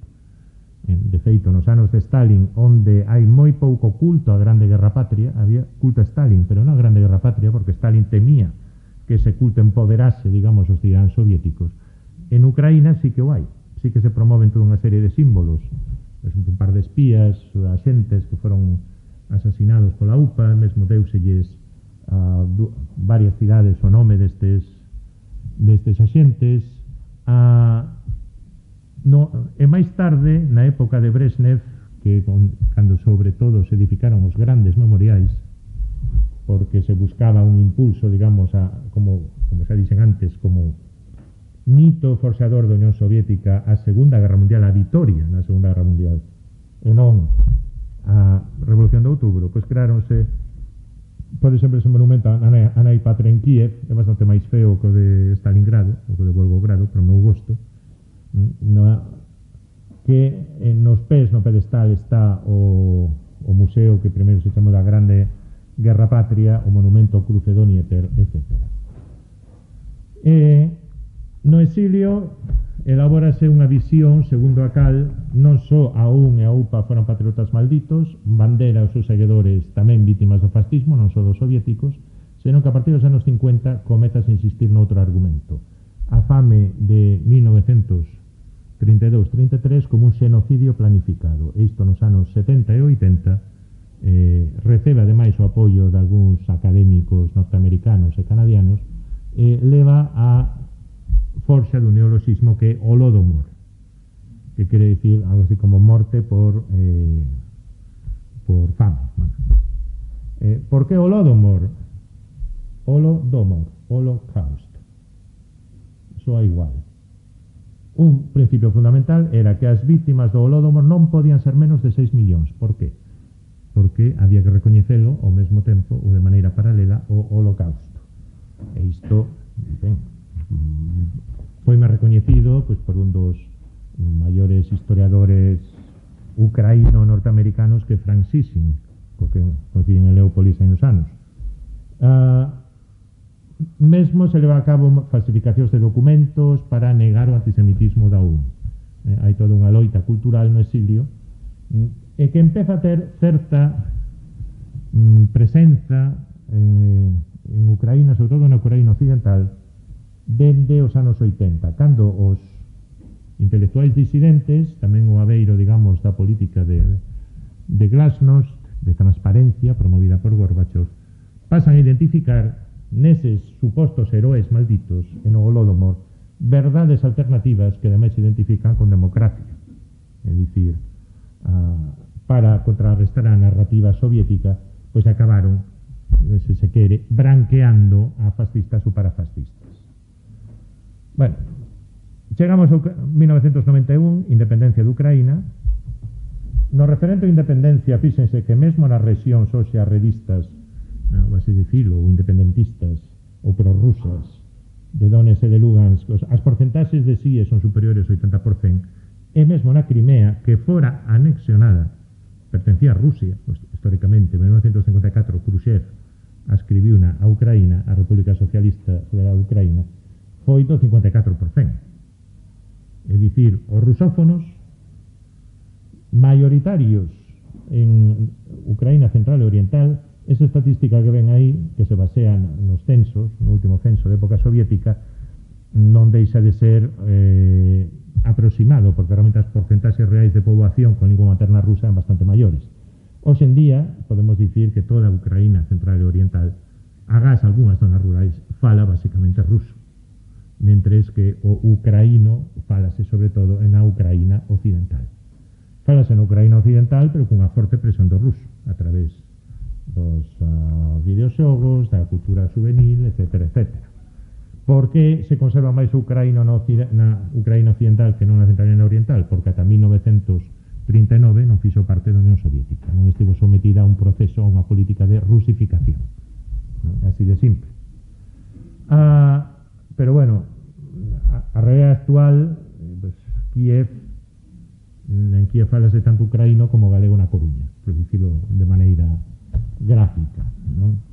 De feito, nos anos de Stalin, onde hai moi pouco culto a grande guerra patria, había culto a Stalin, pero non a grande guerra patria, porque Stalin temía que ese culto empoderase, digamos, os tiranos soviéticos. En Ucraína sí que o hai, sí que se promoven toda unha serie de símbolos, un par de espías, axentes que foron asasinados pola U P A, mesmo deuselles a varias cidades o nome destes destes axentes, a no, e máis tarde, na época de Brezhnev, que con, cando sobre todo se edificaron os grandes memoriais, porque se buscaba un impulso, digamos, a, como, como xa dixen antes, como mito forxador da Unión Soviética a Segunda Guerra Mundial, a vitoria na Segunda Guerra Mundial, e non a Revolución de Outubro, pois creáronse, pode sempre ese monumento a Nai Patria en Kiev, é bastante máis feo que o de Stalingrado, o que de Volgogrado, pero meu gosto, no, que en nos pés no pedestal está o, o museo que primeiro se chamou da Grande Guerra Patria, o monumento ao Cruce do Dnieper, etcétera. E no exilio elabórase unha visión segundo a cal non só a U N e a U P A foran patriotas malditos, Bandera e os seus seguidores tamén vítimas do fascismo, non só dos soviéticos, senón que a partir dos anos cincuenta comezas a insistir noutro argumento, a fame de mil novecentos trinta e dous trinta e tres como un xenocidio planificado. E isto nos anos setenta e oitenta eh, recebe ademais o apoio de algúns académicos norteamericanos e canadianos, eh, leva a forxa dun neoloxismo que é Holodomor, que quere dicir algo así como morte por eh, por fame. Bueno. Eh, por que Holodomor? Holodomor, Holocausto. Soa igual. Un principio fundamental era que as vítimas do Holodomor non podían ser menos de seis millóns. Por que? Porque había que recoñecelo ao mesmo tempo ou de maneira paralela o Holocausto. E isto, ben, foi máis recoñecido pois, por un dos maiores historiadores ucraíno-norteamericanos que Frank Sissing, co que coinciden en Leópolis hai uns anos. Uh, mesmo se leva a cabo falsificacións de documentos para negar o antisemitismo da U N. Eh, hai toda unha loita cultural no exilio e que empeza a ter certa mm, presenza eh, en Ucraína, sobre todo na Ucraína occidental, dende os anos oitenta, cando os intelectuais disidentes, tamén o aveiro, digamos, da política de, de glasnost, de transparencia, promovida por Gorbachev, pasan a identificar neses supostos heróis malditos en o Holodomor verdades alternativas que ademais se identifican con democracia. É dicir, uh, para contrarrestar a narrativa soviética, pois acabaron, se se quere, branqueando a fascistas ou parafascistas. Bueno, chegamos a mil novecentos noventa e un, independencia de Ucraína. No referente a independencia, fíxense que mesmo nas rexións hoxe as revistas, non así dicilo, ou independentistas, ou prorrusas, de Donetsk e de Lugansk, as porcentaxes de sí son superiores ao oitenta por cento, e mesmo na Crimea, que fora anexionada, pertencía a Rusia, históricamente, en mil novecentos cincuenta e catro, Khrushchev ascribiu na a Ucraína, a República Socialista Federal de Ucraína, foi do cincuenta e catro por cento. É dicir, os rusófonos maioritarios en Ucraína central e oriental, esa estatística que ven aí, que se basea nos censos, no último censo de época soviética, non deixa de ser eh, aproximado, porque realmente as porcentaxes reais de poboación con lingua materna rusa eran bastante maiores. Hoxe en día, podemos dicir que toda a Ucraína central e oriental, agás algunhas zonas rurais, fala basicamente ruso, mentres que o ucraíno falase sobre todo en a Ucraína occidental. Falase na Ucraína occidental, pero cunha forte presión do ruso, a través dos uh, videoxogos, da cultura juvenil, etcétera, etcétera. Por que se conserva máis o ucraíno na, na Ucraína occidental que non na central e na oriental? Porque ata mil novecentos trinta e nove non fixo parte da Unión Soviética, non estivo sometida a un proceso, a unha política de rusificación, non? Así de simple. Ah, pero bueno, a, a realidade actual, pues, Kiev, en Kiev falase tanto ucraíno como galego na Coruña, por dicirlo de maneira gráfica, non?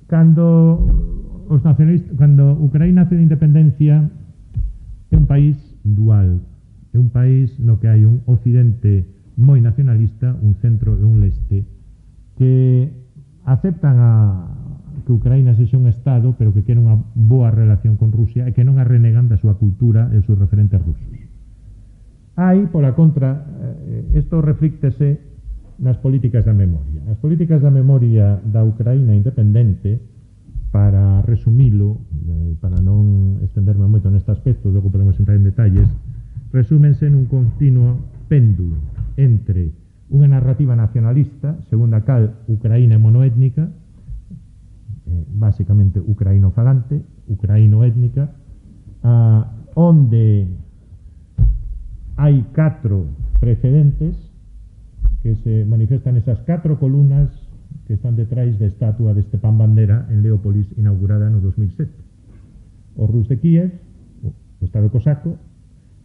Cando os nacionalistas, cando Ucraína hace de independencia, é un país dual, é un país no que hai un occidente moi nacionalista, un centro e un leste, que aceptan a que Ucraína sexa un Estado, pero que quere unha boa relación con Rusia e que non a renegan da súa cultura e dos seus referentes rusos. Hai, pola contra, isto reflíctese nas políticas da memoria. As políticas da memoria da Ucraína independente para resumilo, eh, para non estenderme moito neste aspecto, logo podemos entrar en detalles, resúmense nun continuo péndulo entre unha narrativa nacionalista, segundo a cal Ucraína é monoétnica, eh, basicamente ucraínofalante, ucraínoétnica, ah, onde hai catro precedentes que se manifestan esas catro columnas que están detrás da estatua de Stepan Bandera en Leópolis, inaugurada no dos mil sete. O Rus de Kiev, o Estado cosaco,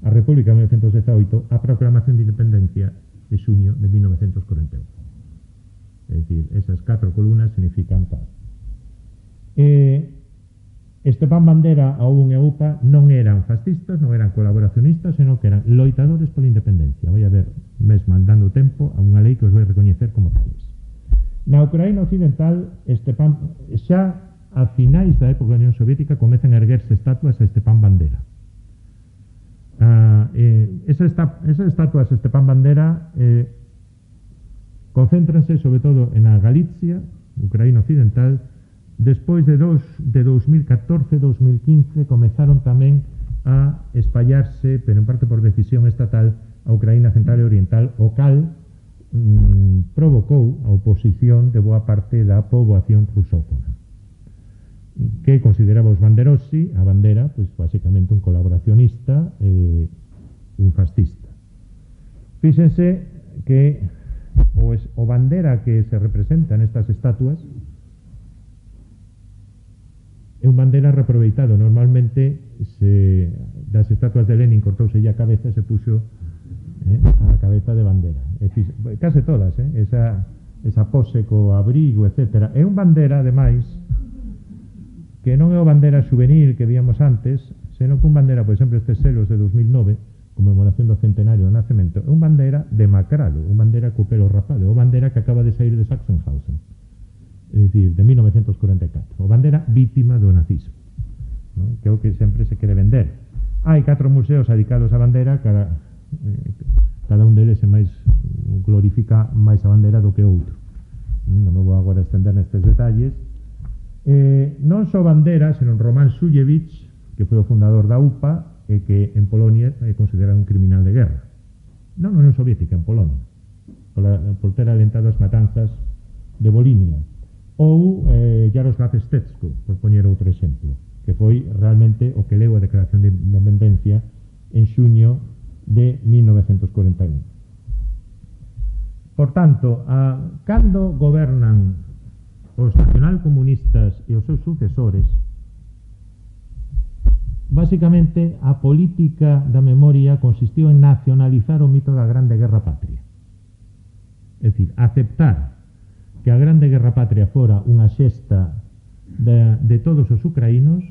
a República de mil novecientos dezaoito, a proclamación de independencia de xuño de mil novecientos corenta e un. É dicir, esas catro columnas significan tal. Eh, Stepan Bandera, a U N e a U P A non eran fascistas, non eran colaboracionistas, senón que eran loitadores pola independencia. Vai haber, mesmo andando tempo, a unha lei que os vai recoñecer como tales. Na Ucraína occidental, Stepan, xa a finais da época da Unión Soviética comezan a erguerse estatuas a Stepan Bandera. Ah, eh, esa esta, esas estatuas a Stepan Bandera eh, concéntranse sobre todo en a Galicia, Ucraína occidental. Despois de, dos, de dos mil catorce a dos mil quince comezaron tamén a espallarse, pero en parte por decisión estatal, a Ucraína central e oriental, o cal mm, provocou a oposición de boa parte da poboación rusófona, que consideraba os Banderossi, a Bandera, pois basicamente un colaboracionista, eh, un fascista. Fíxense que o, es, o Bandera que se representa nestas estatuas é un Bandera reaproveitado. Normalmente se, das estatuas de Lenin cortouse a cabeza e se puxo eh, a cabeza de Bandera. E, case todas, eh, esa, esa pose co abrigo, etcétera. É un Bandera, ademais, que non é o Bandera juvenil que víamos antes, senón que un Bandera, por exemplo, estes selos de dos mil nove, conmemoración do centenario do nacemento, é un Bandera demacrado, un Bandera co pelo rapado, é un Bandera que acaba de sair de Sachsenhausen, é dicir, de mil novecientos corenta e catro, o Bandera vítima do nazismo, ¿no? Que é o que sempre se quere vender. Hai catro museos dedicados á Bandera, cada, eh, cada un deles é máis glorifica máis a Bandera do que outro. Non me vou agora estender nestes detalles. Eh, non só Bandera, senón Roman Shulevich, que foi o fundador da U P A e que en Polonia é considerado un criminal de guerra. Non na Unión Soviética, en Polonia, por, la, por ter alentado as matanzas de Volhynia. Ou eh, Jaroslav Stetsko, por poñer outro exemplo, que foi realmente o que leu a declaración de independencia en xuño de mil novecientos corenta e un. Por tanto, a, cando gobernan os nacionalcomunistas e os seus sucesores, basicamente a política da memoria consistiu en nacionalizar o mito da Grande Guerra Patria. É dicir, aceptar que a Grande Guerra Patria fora unha xesta de, de todos os ucraínos,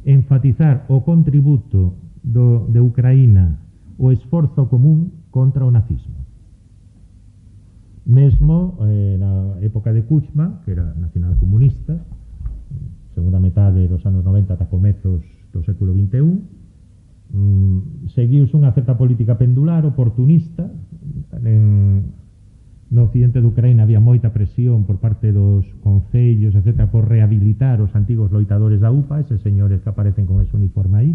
enfatizar o contributo do, de Ucraína, o esforzo común contra o nazismo. Mesmo eh, na época de Kuchma, que era nacionalcomunista, segunda metade dos anos noventa ata comezos do século vinte e un, mm, seguiuse unha certa política pendular, oportunista. En, no occidente de Ucraína había moita presión por parte dos concellos, etcétera, por rehabilitar os antigos loitadores da U P A, eses señores que aparecen con ese uniforme aí,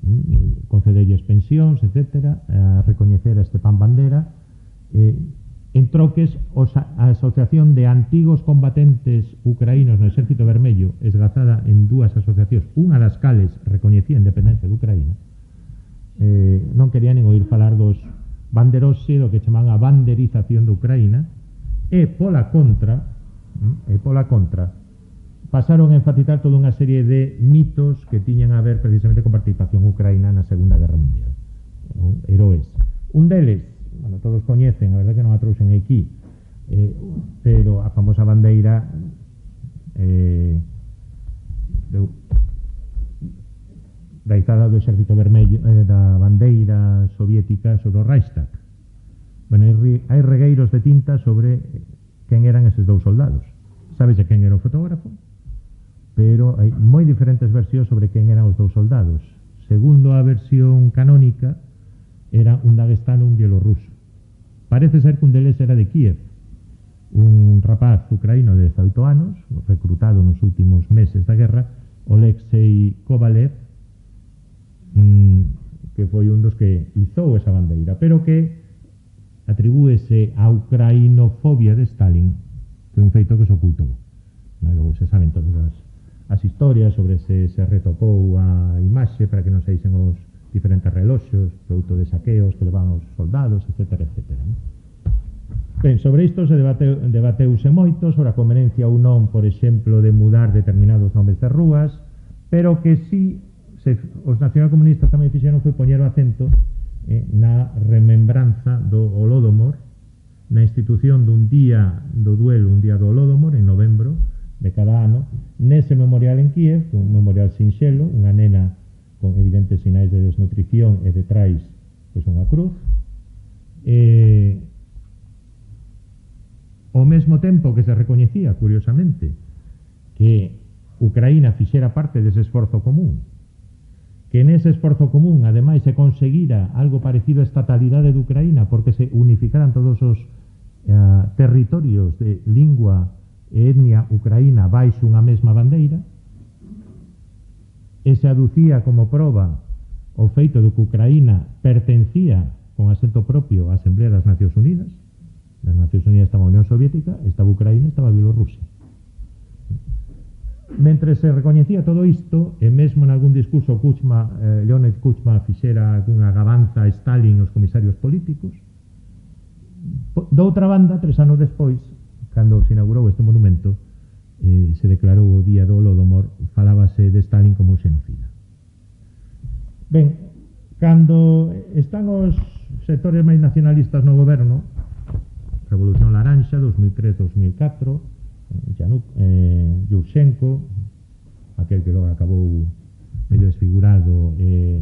mm, concedelles pensións, etcétera, a recoñecer a Stepan Bandera. Eh, En troques, os, a Asociación de Antigos Combatentes Ucraínos no Exército Vermello, esgazada en dúas asociacións, unha das cales recoñecía a independencia de Ucraína, eh, non quería nin oír falar dos banderossi, do que chamaban a banderización de Ucraína, e pola contra, e pola contra, pasaron a enfatizar toda unha serie de mitos que tiñan a ver precisamente con participación ucraína na Segunda Guerra Mundial, ¿no? Heroes. Un deles, bueno, todos coñecen, a verdade que non a trouxen aquí, eh, pero a famosa bandeira eh, de, da izada do Exército Vermello, eh, da bandeira soviética sobre o Reichstag. Bueno, hai, hai regueiros de tinta sobre quen eran eses dous soldados. Sabese quen era o fotógrafo, pero hai moi diferentes versións sobre quen eran os dous soldados. Segundo a versión canónica, era un daguestano, un bielorruso. Parece ser que un deles era de Kiev, un rapaz ucraíno de dezaoito anos, recrutado nos últimos meses da guerra, Oleksiy Kovalev, que foi un dos que izou esa bandeira, pero que atribúese a ucrainofobia de Stalin, que é un feito que se ocultou. Logo se saben todas as, as historias sobre se se retocou a imaxe para que non saísen os diferentes reloxos, produto de saqueos que levan os soldados, etcétera, etcétera. Ben, sobre isto se debateu, debateuse moito, sobre a conveniencia ou non, por exemplo, de mudar determinados nomes de rúas, pero que si se, os nacionalcomunistas tamén fixeron foi poñer o acento eh, na remembranza do Holodomor, na institución dun día do duelo, un día do Holodomor, en novembro de cada ano, nese memorial en Kiev, un memorial sinxelo, unha nena con evidentes sinais de desnutrición e detrás pois unha cruz. Eh, ao mesmo tempo que se recoñecía, curiosamente, que Ucraína fixera parte dese esforzo común, que nese esforzo común, ademais, se conseguira algo parecido a estatalidade de Ucraína, porque se unificaran todos os uh, territorios de lingua e etnia ucraína baixo unha mesma bandeira, e se aducía como proba o feito de que Ucraína pertencía con asento propio á Asamblea das Nacións Unidas. Nas Nacións Unidas estaba a Unión Soviética, estaba Ucraína, estaba Bielorrusia. Mentre se recoñecía todo isto, e mesmo en algún discurso Kuchma, eh, Leonid Kuchma fixera algunha gabanza a Stalin e os comisarios políticos, doutra banda, tres anos despois, cando se inaugurou este monumento, eh, se declarou o día do Holodomor, falábase de Stalin como un xenocida. Ben, cando están os sectores máis nacionalistas no goberno, Revolución Laranxa, dos mil tres a dos mil catro, Yanuk, eh, Yushchenko, aquel que logo acabou medio desfigurado e eh,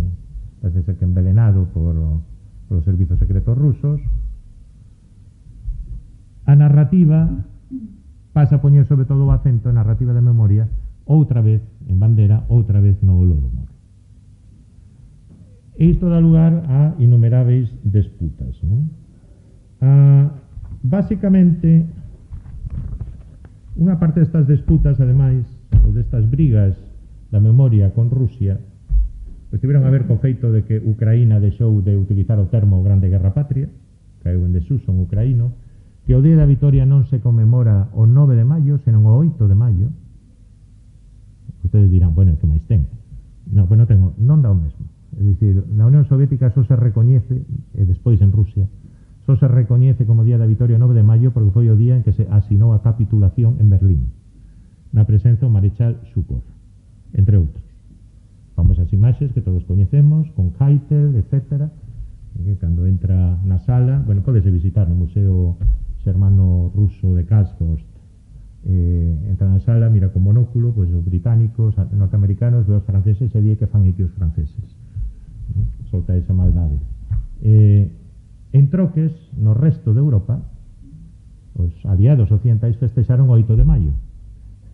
parece ser que envenenado por, por os servizos secretos rusos, a narrativa pasa a poñer sobre todo o acento en narrativa de memoria, outra vez en bandera, outra vez no Holodomor. E isto dá lugar a innumerables disputas, non? A Básicamente, unha parte destas disputas, ademais, ou destas brigas da memoria con Rusia, pois tiveron a ver co feito de que Ucraína deixou de utilizar o termo Grande Guerra Patria, caeu en desuso en ucraíno, que o Día da Vitoria non se conmemora o nove de maio, senón o oito de maio. Ustedes dirán, bueno, que máis ten? Non, pues non tengo, non dá o mesmo. É dicir, na Unión Soviética só se recoñece, e despois en Rusia, só se recoñece como Día da Vitoria nove de maio porque foi o día en que se asinou a capitulación en Berlín, na presenza do Marechal Zhukov, entre outros. Famosas imaxes que todos coñecemos, con Keitel, etcétera, que cando entra na sala, bueno, podese visitar no Museo Xermano Ruso de Karlsruhe, eh, entra na sala, mira con monóculo, pois os británicos, os norteamericanos, ve os franceses e di que fan aquí os franceses. ¿No? Solta esa maldade. Eh, En troques, no resto de Europa, os aliados occidentais festexaron o oito de maio,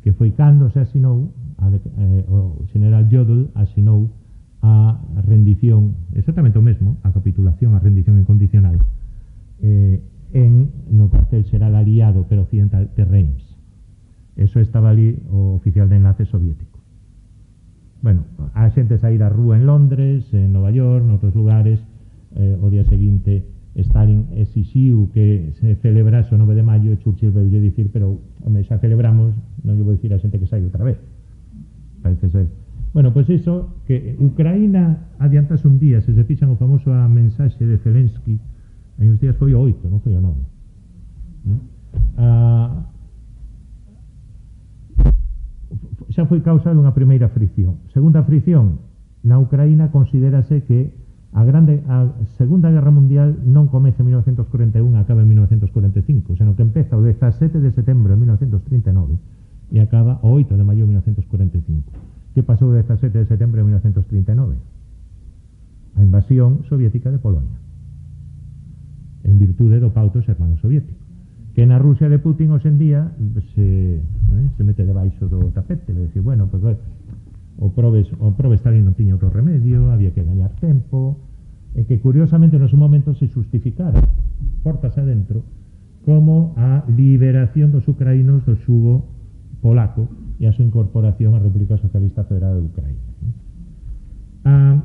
que foi cando se asinou, a de, eh, o general Jodl asinou a rendición, exactamente o mesmo, a capitulación, a rendición incondicional, eh, en, no cartel xeral aliado, pero occidental, de Reims. Eso estaba ali o oficial de enlace soviético. Bueno, a xente saír á rúa en Londres, en Nova York, noutros lugares, eh, o día seguinte Stalin exixiu que se celebrase o nove de maio e Churchill veio dicir, pero home, xa celebramos, non lle vou dicir a xente que sai outra vez. Parece ser. Bueno, pois pues iso, que Ucraína adiantase un día, se se fixan o famoso a mensaxe de Zelensky, hai uns días foi o oito, non foi o nove. ¿No? Ah, xa foi causa dunha primeira fricción. Segunda fricción, na Ucraína considérase que A, grande, a Segunda Guerra Mundial non comeza en mil novecentos cuarenta e un e acaba en mil novecentos cuarenta e cinco, senón que empeza o dezasete de setembro de mil novecentos trinta e nove e acaba o oito de maio de mil novecentos cuarenta e cinco. Que pasou o dezasete de setembro de mil novecentos trinta e nove? A invasión soviética de Polonia, en virtude do pacto xermano-soviético, que na Rusia de Putin hoxe en día se, eh, se mete debaixo do tapete, le decir, bueno, pues, o probes, o probes Stalin non tiña outro remedio, había que gañar tempo, e que curiosamente no seu momento se justificara, portas adentro, como a liberación dos ucraínos do xugo polaco e a súa incorporación á República Socialista Federal de Ucraína. Ah,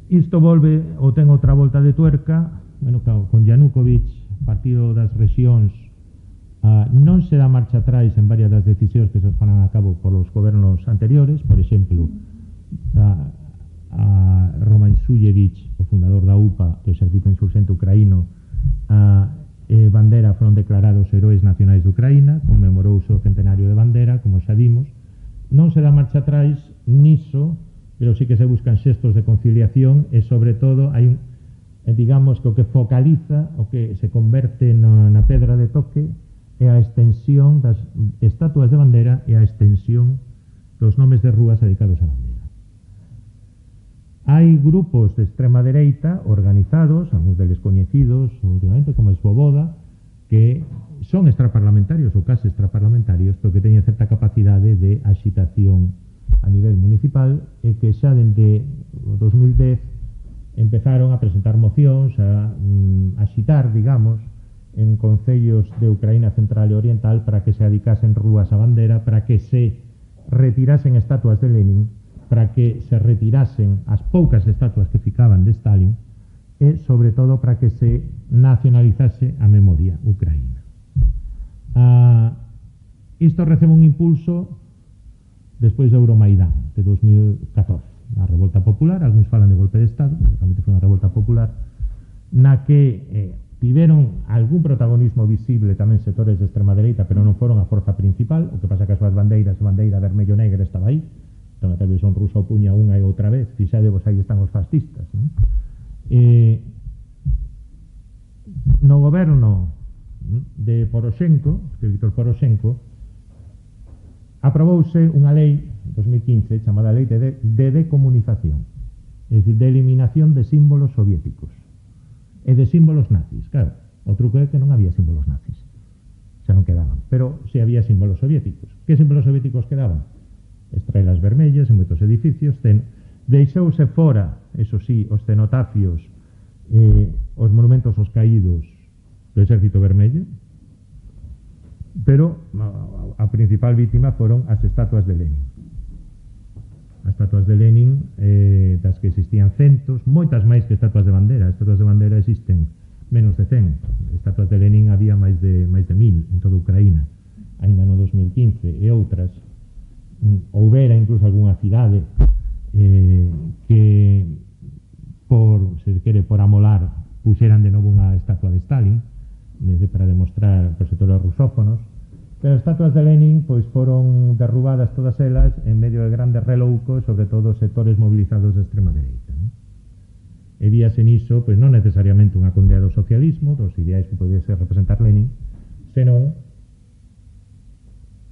isto volve ou ten outra volta de tuerca, bueno, con Yanukovych, Partido das Rexións, ah, non se dá marcha atrás en varias das decisións que se foran a cabo polos gobernos anteriores, por exemplo, a, a Roman Shuyevich, o fundador da U P A, do Exército Insurxente Ucraíno, a eh, Bandera foron declarados heróis nacionais de Ucraína, conmemorouse o centenario de Bandera, como xa vimos. Non se dá marcha atrás niso, pero sí que se buscan xestos de conciliación e, sobre todo, hai un, eh, digamos que o que focaliza, o que se converte na, na pedra de toque, é a extensión das estatuas de Bandera e a extensión dos nomes de rúas dedicados a Bandera. Hai grupos de extrema dereita organizados, algúns deles coñecidos últimamente como Svoboda, que son extraparlamentarios ou case extraparlamentarios, pero que teñen certa capacidade de axitación a nivel municipal e que xa dende o dos mil dez empezaron a presentar mocións, a mm, axitar, digamos, en concellos de Ucraína Central e Oriental para que se adicasen rúas a Bandera, para que se retirasen estatuas de Lenin, para que se retirasen as poucas estatuas que ficaban de Stalin e, sobre todo, para que se nacionalizase a memoria ucraína. Ah, isto recebe un impulso despois do Euromaidán de dos mil catorce, a revolta popular, algúns falan de golpe de Estado, realmente foi unha revolta popular, na que eh, tiveron algún protagonismo visible tamén sectores de extrema dereita, pero non foron a forza principal. O que pasa que as súas bandeiras, a bandeira vermello-negra estaba aí, entón a televisión rusa opuña unha e outra vez, fixadevos, aí están os fascistas, non? Eh, no goberno de Poroshenko, de Víctor Poroshenko, aprobouse unha lei en dos mil quince chamada Lei de, de Decomunización, é dicir, de eliminación de símbolos soviéticos e de símbolos nazis. Claro, o truco é que non había símbolos nazis, xa non quedaban, pero si había símbolos soviéticos. Que símbolos soviéticos quedaban? Estrelas vermellas en moitos edificios. Ten, deixouse fora, eso sí, os cenotafios, eh, os monumentos aos caídos do Exército Vermello, pero a, a principal vítima foron as estatuas de Lenin. As estatuas de Lenin, eh, das que existían centos, moitas máis que estatuas de Bandera. As estatuas de Bandera existen menos de cen. Estatuas de Lenin había máis de, máis de mil en toda Ucraína, ainda no dos mil quince, e outras houbera incluso algunha cidade eh, que por, se quere, por amolar puxeran de novo unha estatua de Stalin desde para demostrar os sectores rusófonos, pero as estatuas de Lenin pois foron derrubadas todas elas en medio de grandes reloucos, sobre todo sectores movilizados de extrema dereita, non? E víase niso, pois non necesariamente unha condea do socialismo, dos ideais que podía ser representar Lenin, senón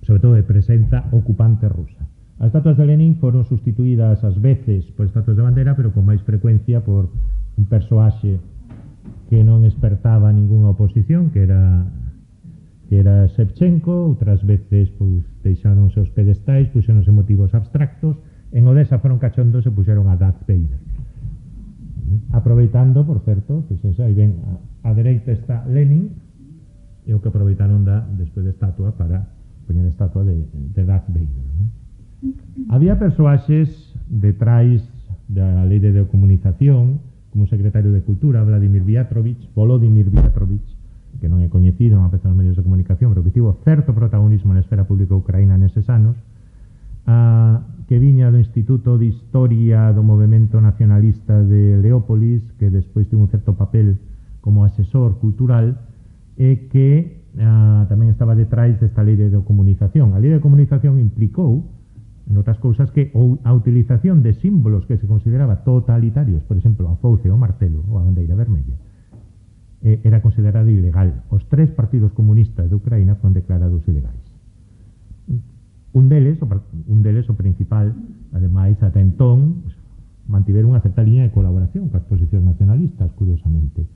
sobre todo de presenza ocupante rusa. As estatuas de Lenin foron sustituídas ás veces por estatuas de Bandera, pero con máis frecuencia por un persoaxe que non espertaba ningunha oposición, que era que era Shevchenko. Outras veces pois deixáronse os pedestais, puxéronse motivos abstractos. En Odessa foron cachondos e puxeron a Darth Vader. Aproveitando, por certo, que se aí ven, a, a dereita está Lenin, e o que aproveitaron da despois de estatua para poñer a estatua de, de Darth Vader, non? Había persoaxes detrás da lei de decomunización, como o secretario de Cultura, Vladimir Vyatrovich, Volodymyr Vyatrovich, que non é coñecido, non aparece nos medios de comunicación, pero que tivo certo protagonismo na esfera pública ucraína neses anos, a, que viña do Instituto de Historia do Movemento Nacionalista de Leópolis, que despois tivo un certo papel como asesor cultural, e que Uh, tamén estaba detrás desta lei de comunicación. A lei de comunicación implicou, en outras cousas, que a utilización de símbolos que se consideraba totalitarios, por exemplo, a fouce, o martelo ou a bandeira vermella, eh, era considerada ilegal. Os tres partidos comunistas de Ucraína foron declarados ilegais. Un deles, o, un deles, o principal, ademais, ata entón, pues, mantiveron unha certa liña de colaboración coas posicións nacionalistas, curiosamente.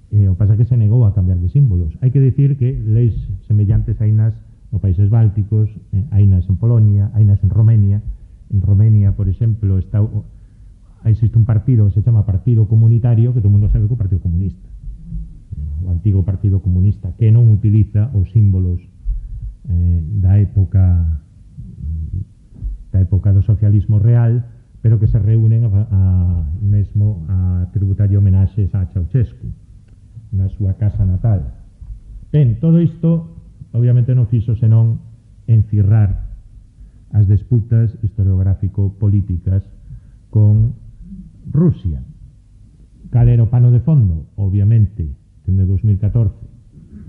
Eh, o pasa que se negou a cambiar de símbolos. Hai que dicir que leis semellantes hainas nos países bálticos, eh, hainas en Polonia, hainas en Romania. En Romania, por exemplo, está, existe un partido que se chama Partido Comunitario, que todo o mundo sabe que é o Partido Comunista. o antigo Partido Comunista, que non utiliza os símbolos eh, da época da época do socialismo real, pero que se reúnen a, a, mesmo a tributar homenaxes a Ceausescu na súa casa natal. Ben, todo isto obviamente non fixo senón encirrar as disputas historiográfico-políticas con Rusia. Cal era o pano de fondo? Obviamente, dende dos mil catorce,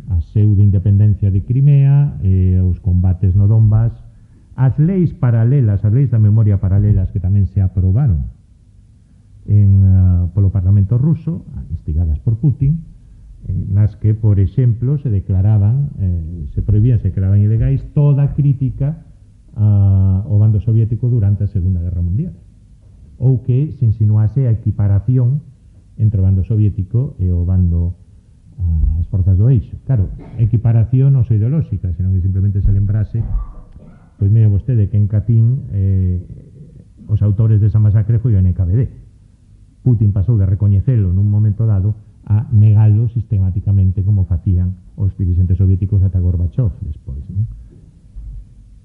a pseudo-independencia de Crimea, eh, os combates no Donbass, as leis paralelas, as leis da memoria paralelas que tamén se aprobaron en, uh, polo Parlamento ruso, instigadas por Putin, eh, nas que, por exemplo, se declaraban, eh, se prohibían, se declaraban ilegais toda crítica uh, ao bando soviético durante a Segunda Guerra Mundial, ou que se insinuase a equiparación entre o bando soviético e o bando uh, as forzas do eixo. Claro, equiparación non só ideolóxica, senón que simplemente se lembrase, pois mire vostede que en Katyn eh, os autores desa masacre foi o N K V D. Putin pasou de recoñecelo nun momento dado a negalo sistemáticamente como facían os dirigentes soviéticos ata Gorbachev despois, non?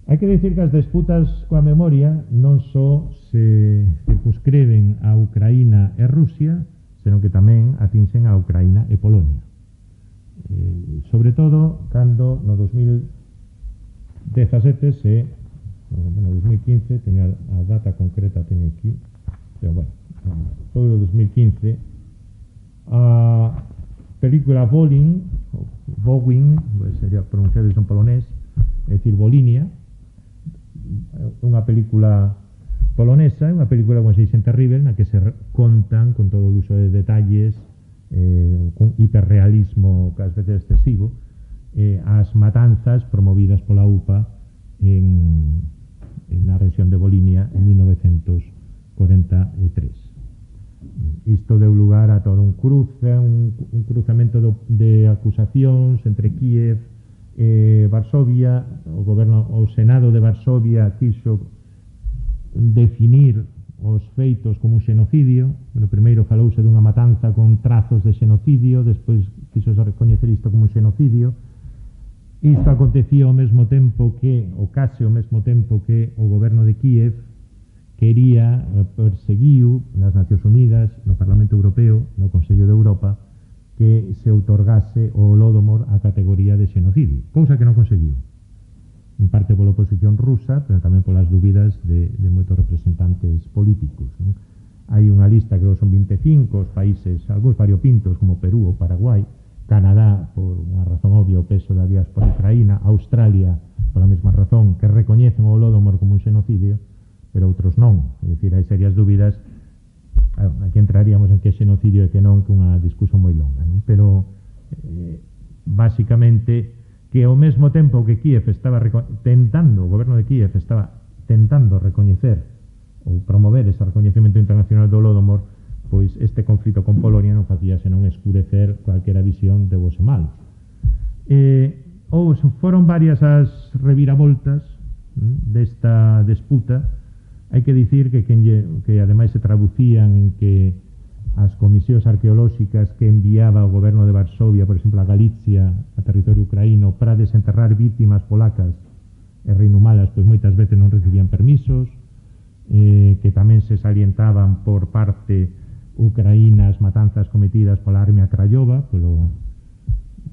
Hai que dicir que as disputas coa memoria non só se circunscriben a Ucraína e Rusia, senón que tamén atinxen a Ucraína e Polonia. Eh, sobre todo, cando no dos mil dezasete se, no dos mil quince, teño a data concreta, teño aquí, pero bueno, foi o dos mil quince, a película Volin, Vowin, sería pronunciado en polonés, é dicir, Volinia, unha película polonesa, unha película con seixen terrible, na que se contan con todo o uso de detalles, eh, con hiperrealismo case veces excesivo, eh, as matanzas promovidas pola U P A en, en na rexión de Volinia en mil novecientos cuarenta e tres. Isto deu lugar a todo un cruce, un, un cruzamento do, de acusacións entre Kiev e Varsovia. O goberno, o Senado de Varsovia quixo definir os feitos como un xenocidio. Bueno, primeiro falouse dunha matanza con trazos de xenocidio, despois quixo recoñecer isto como un xenocidio. Isto acontecía ao mesmo tempo que, ou case ao mesmo tempo que o goberno de Kiev quería, perseguiu nas Nacións Unidas, no Parlamento Europeo, no Consello de Europa, que se outorgase o Holodomor a categoría de xenocidio, cousa que non conseguiu, en parte pola oposición rusa, pero tamén polas dúbidas de, de moitos representantes políticos, non? Hai unha lista, creo que son veinticinco os países, algúns variopintos como Perú ou Paraguai, Canadá, por unha razón obvia, o peso da diáspora ucraína, Australia, por a mesma razón, que recoñecen o Holodomor como un xenocidio, pero outros non. É dicir, hai serias dúbidas. Aquí entraríamos en que xenocidio e que non, que unha discusión moi longa, non? Pero eh, basicamente que ao mesmo tempo que Kiev estaba tentando, o goberno de Kiev estaba tentando recoñecer ou promover ese recoñecemento internacional do Holodomor, pois este conflito con Polonia non facía senón escurecer cualquera visión de bos e malos. Eh, ou foron varias as reviravoltas desta disputa. Hai que dicir que, que, que ademais se traducían en que as comisións arqueolóxicas que enviaba o goberno de Varsovia, por exemplo, a Galicia, a territorio ucraíno, para desenterrar vítimas polacas e reinhumalas, pois moitas veces non recibían permisos, eh, que tamén se salientaban por parte ucraína as matanzas cometidas pola Armia Krajova, polo,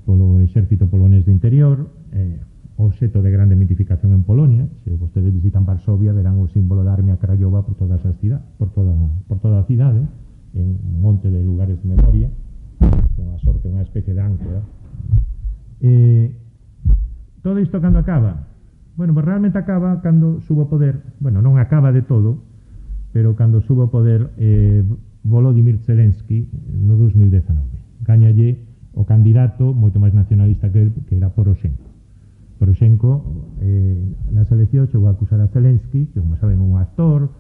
polo exército polonés do interior, eh, obxeto de grande mitificación en Polonia. Se vostedes visitan Varsovia, verán o símbolo da Armia Krajova por toda esa cidade, por toda, por toda a cidade, en un monte de lugares de memoria, con a sorte unha especie de áncora. Eh, todo isto cando acaba? Bueno, pues realmente acaba cando subo poder, bueno, non acaba de todo, pero cando subo poder eh, Volodymyr Zelensky no dos mil dezanove. Gañalle o candidato moito máis nacionalista que, que era Poroshenko. Poroshenko eh, nas eleccións chegou a acusar a Zelensky, que como saben é un actor,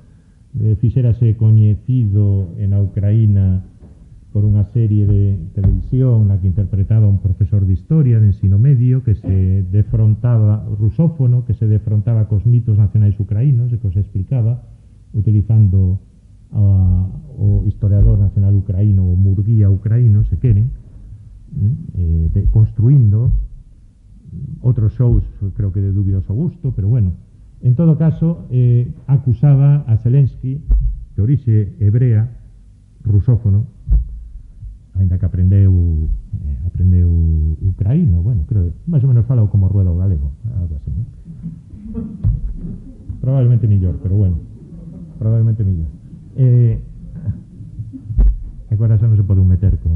eh, fixérase coñecido en a Ucraína por unha serie de televisión na que interpretaba un profesor de historia de ensino medio que se defrontaba, rusófono, que se defrontaba cos mitos nacionais ucraínos e que os explicaba utilizando a, o historiador nacional ucraíno, o Murguía ucraíno, se queren, eh, de, construindo outros shows, creo que de dubioso gusto, pero bueno, en todo caso, eh, acusaba a Zelensky, de orixe hebrea, rusófono, ainda que aprendeu eh, aprendeu ucraíno, bueno, creo que máis ou menos fala como ruedo galego, algo así, ¿no? Probablemente millor, pero bueno, probablemente millor. Eh, agora xa non se pode meter co,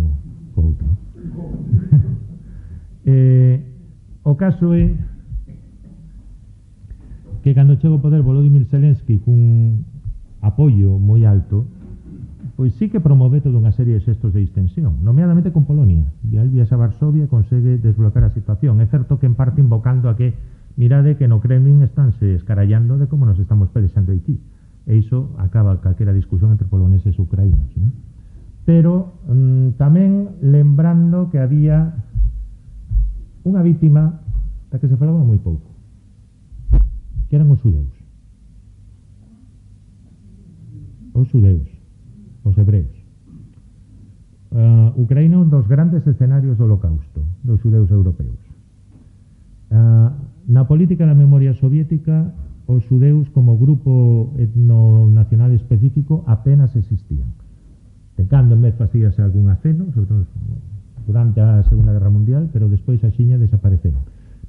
co outro. eh, o caso é que cando chega ao poder Volodymyr Zelensky cun apoio moi alto, pois sí que promove toda unha serie de xestos de distensión, nomeadamente con Polonia. Vial viaxa a Varsovia e consegue desbloquear a situación. É certo que en parte invocando a que mirade que no Kremlin estánse escarallando de como nos estamos pelexando aquí. E iso acaba calquera discusión entre poloneses e ucraínos, ¿no? Pero mmm, tamén lembrando que había unha vítima da que se falaba moi pouco, que eran os xudeus. Os xudeus, os hebreos. Uh, Ucraína é un dos grandes escenarios do holocausto dos xudeus europeos. Uh, na política da memoria soviética, os xudeus como grupo etnonacional específico apenas existían. De cando en vez facíase algún aceno, sobre todo durante a Segunda Guerra Mundial, pero despois a xiña desapareceron.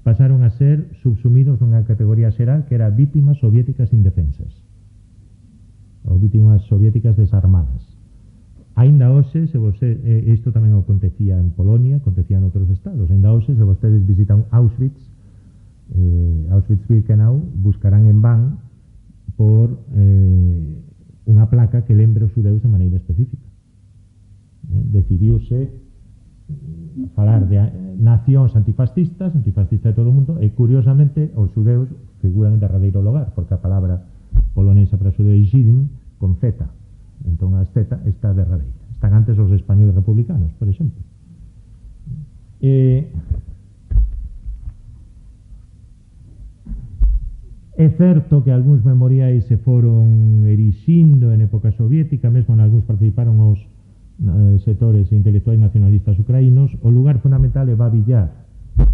Pasaron a ser subsumidos nunha categoría xeral que era vítimas soviéticas indefensas, ou vítimas soviéticas desarmadas. Aínda hoxe, se você, eh, isto tamén acontecía en Polonia, acontecía en outros estados, aínda hoxe, se vostedes visitan Auschwitz, eh, Auschwitz-Birkenau, buscarán en van por eh, unha placa que lembre os xudeus de maneira específica. Eh, decidiuse falar de nacións antifascistas, antifascistas de todo o mundo, e curiosamente os xudeus figuran en derradeiro lugar, porque a palabra polonesa para xudeu é Żydin con Z, entón a Z está derradeira. Están antes os españoles republicanos, por exemplo. Eh, é certo que algúns memoriais se foron erixindo en época soviética, mesmo en algúns participaron os eh, sectores intelectuais nacionalistas ucraínos. O lugar fundamental é Babi Yar.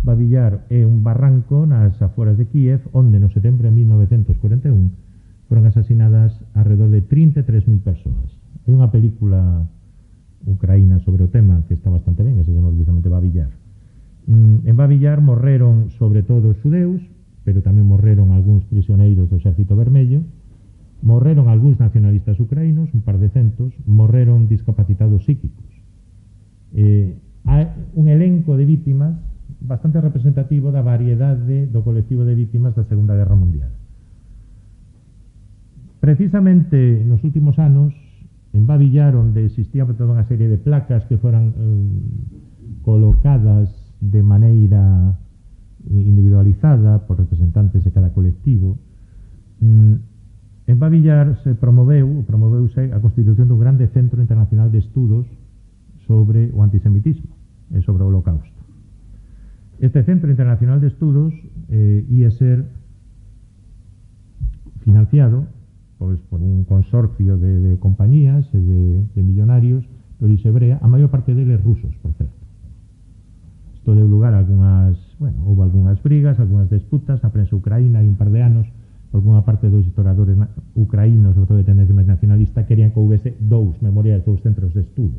Babi Yar é un barranco nas aforas de Kiev, onde no setembro de mil novecientos cuarenta e un foron asasinadas alrededor de trinta e tres mil persoas. Hai unha película ucraína sobre o tema que está bastante ben, que se chama precisamente Babi Yar. Mm, en Babi Yar morreron sobre todo os xudeus, pero tamén morreron algúns prisioneiros do Exército Vermello, morreron algúns nacionalistas ucraínos, un par de centos, morreron discapacitados psíquicos. Eh, hai un elenco de vítimas bastante representativo da variedade do colectivo de vítimas da Segunda Guerra Mundial. Precisamente nos últimos anos, en Babi Yar, onde existía toda unha serie de placas que foran eh, colocadas de maneira individualizada por representantes de cada colectivo, en Babi Yar se promoveu, promoveuse a constitución dun grande centro internacional de estudos sobre o antisemitismo e sobre o holocausto. Este centro internacional de estudos eh, ia ser financiado pois, por un consorcio de, de compañías e de, de millonarios de orixe hebrea, a maior parte deles rusos, por certo. Isto deu lugar a algunhas, bueno, houve algunhas brigas, algunhas disputas na prensa ucraína, hai un par de anos, algunha parte dos historiadores ucraínos, sobre todo de tendencia máis nacionalista, querían que houvese dous memoriais, dous centros de estudo.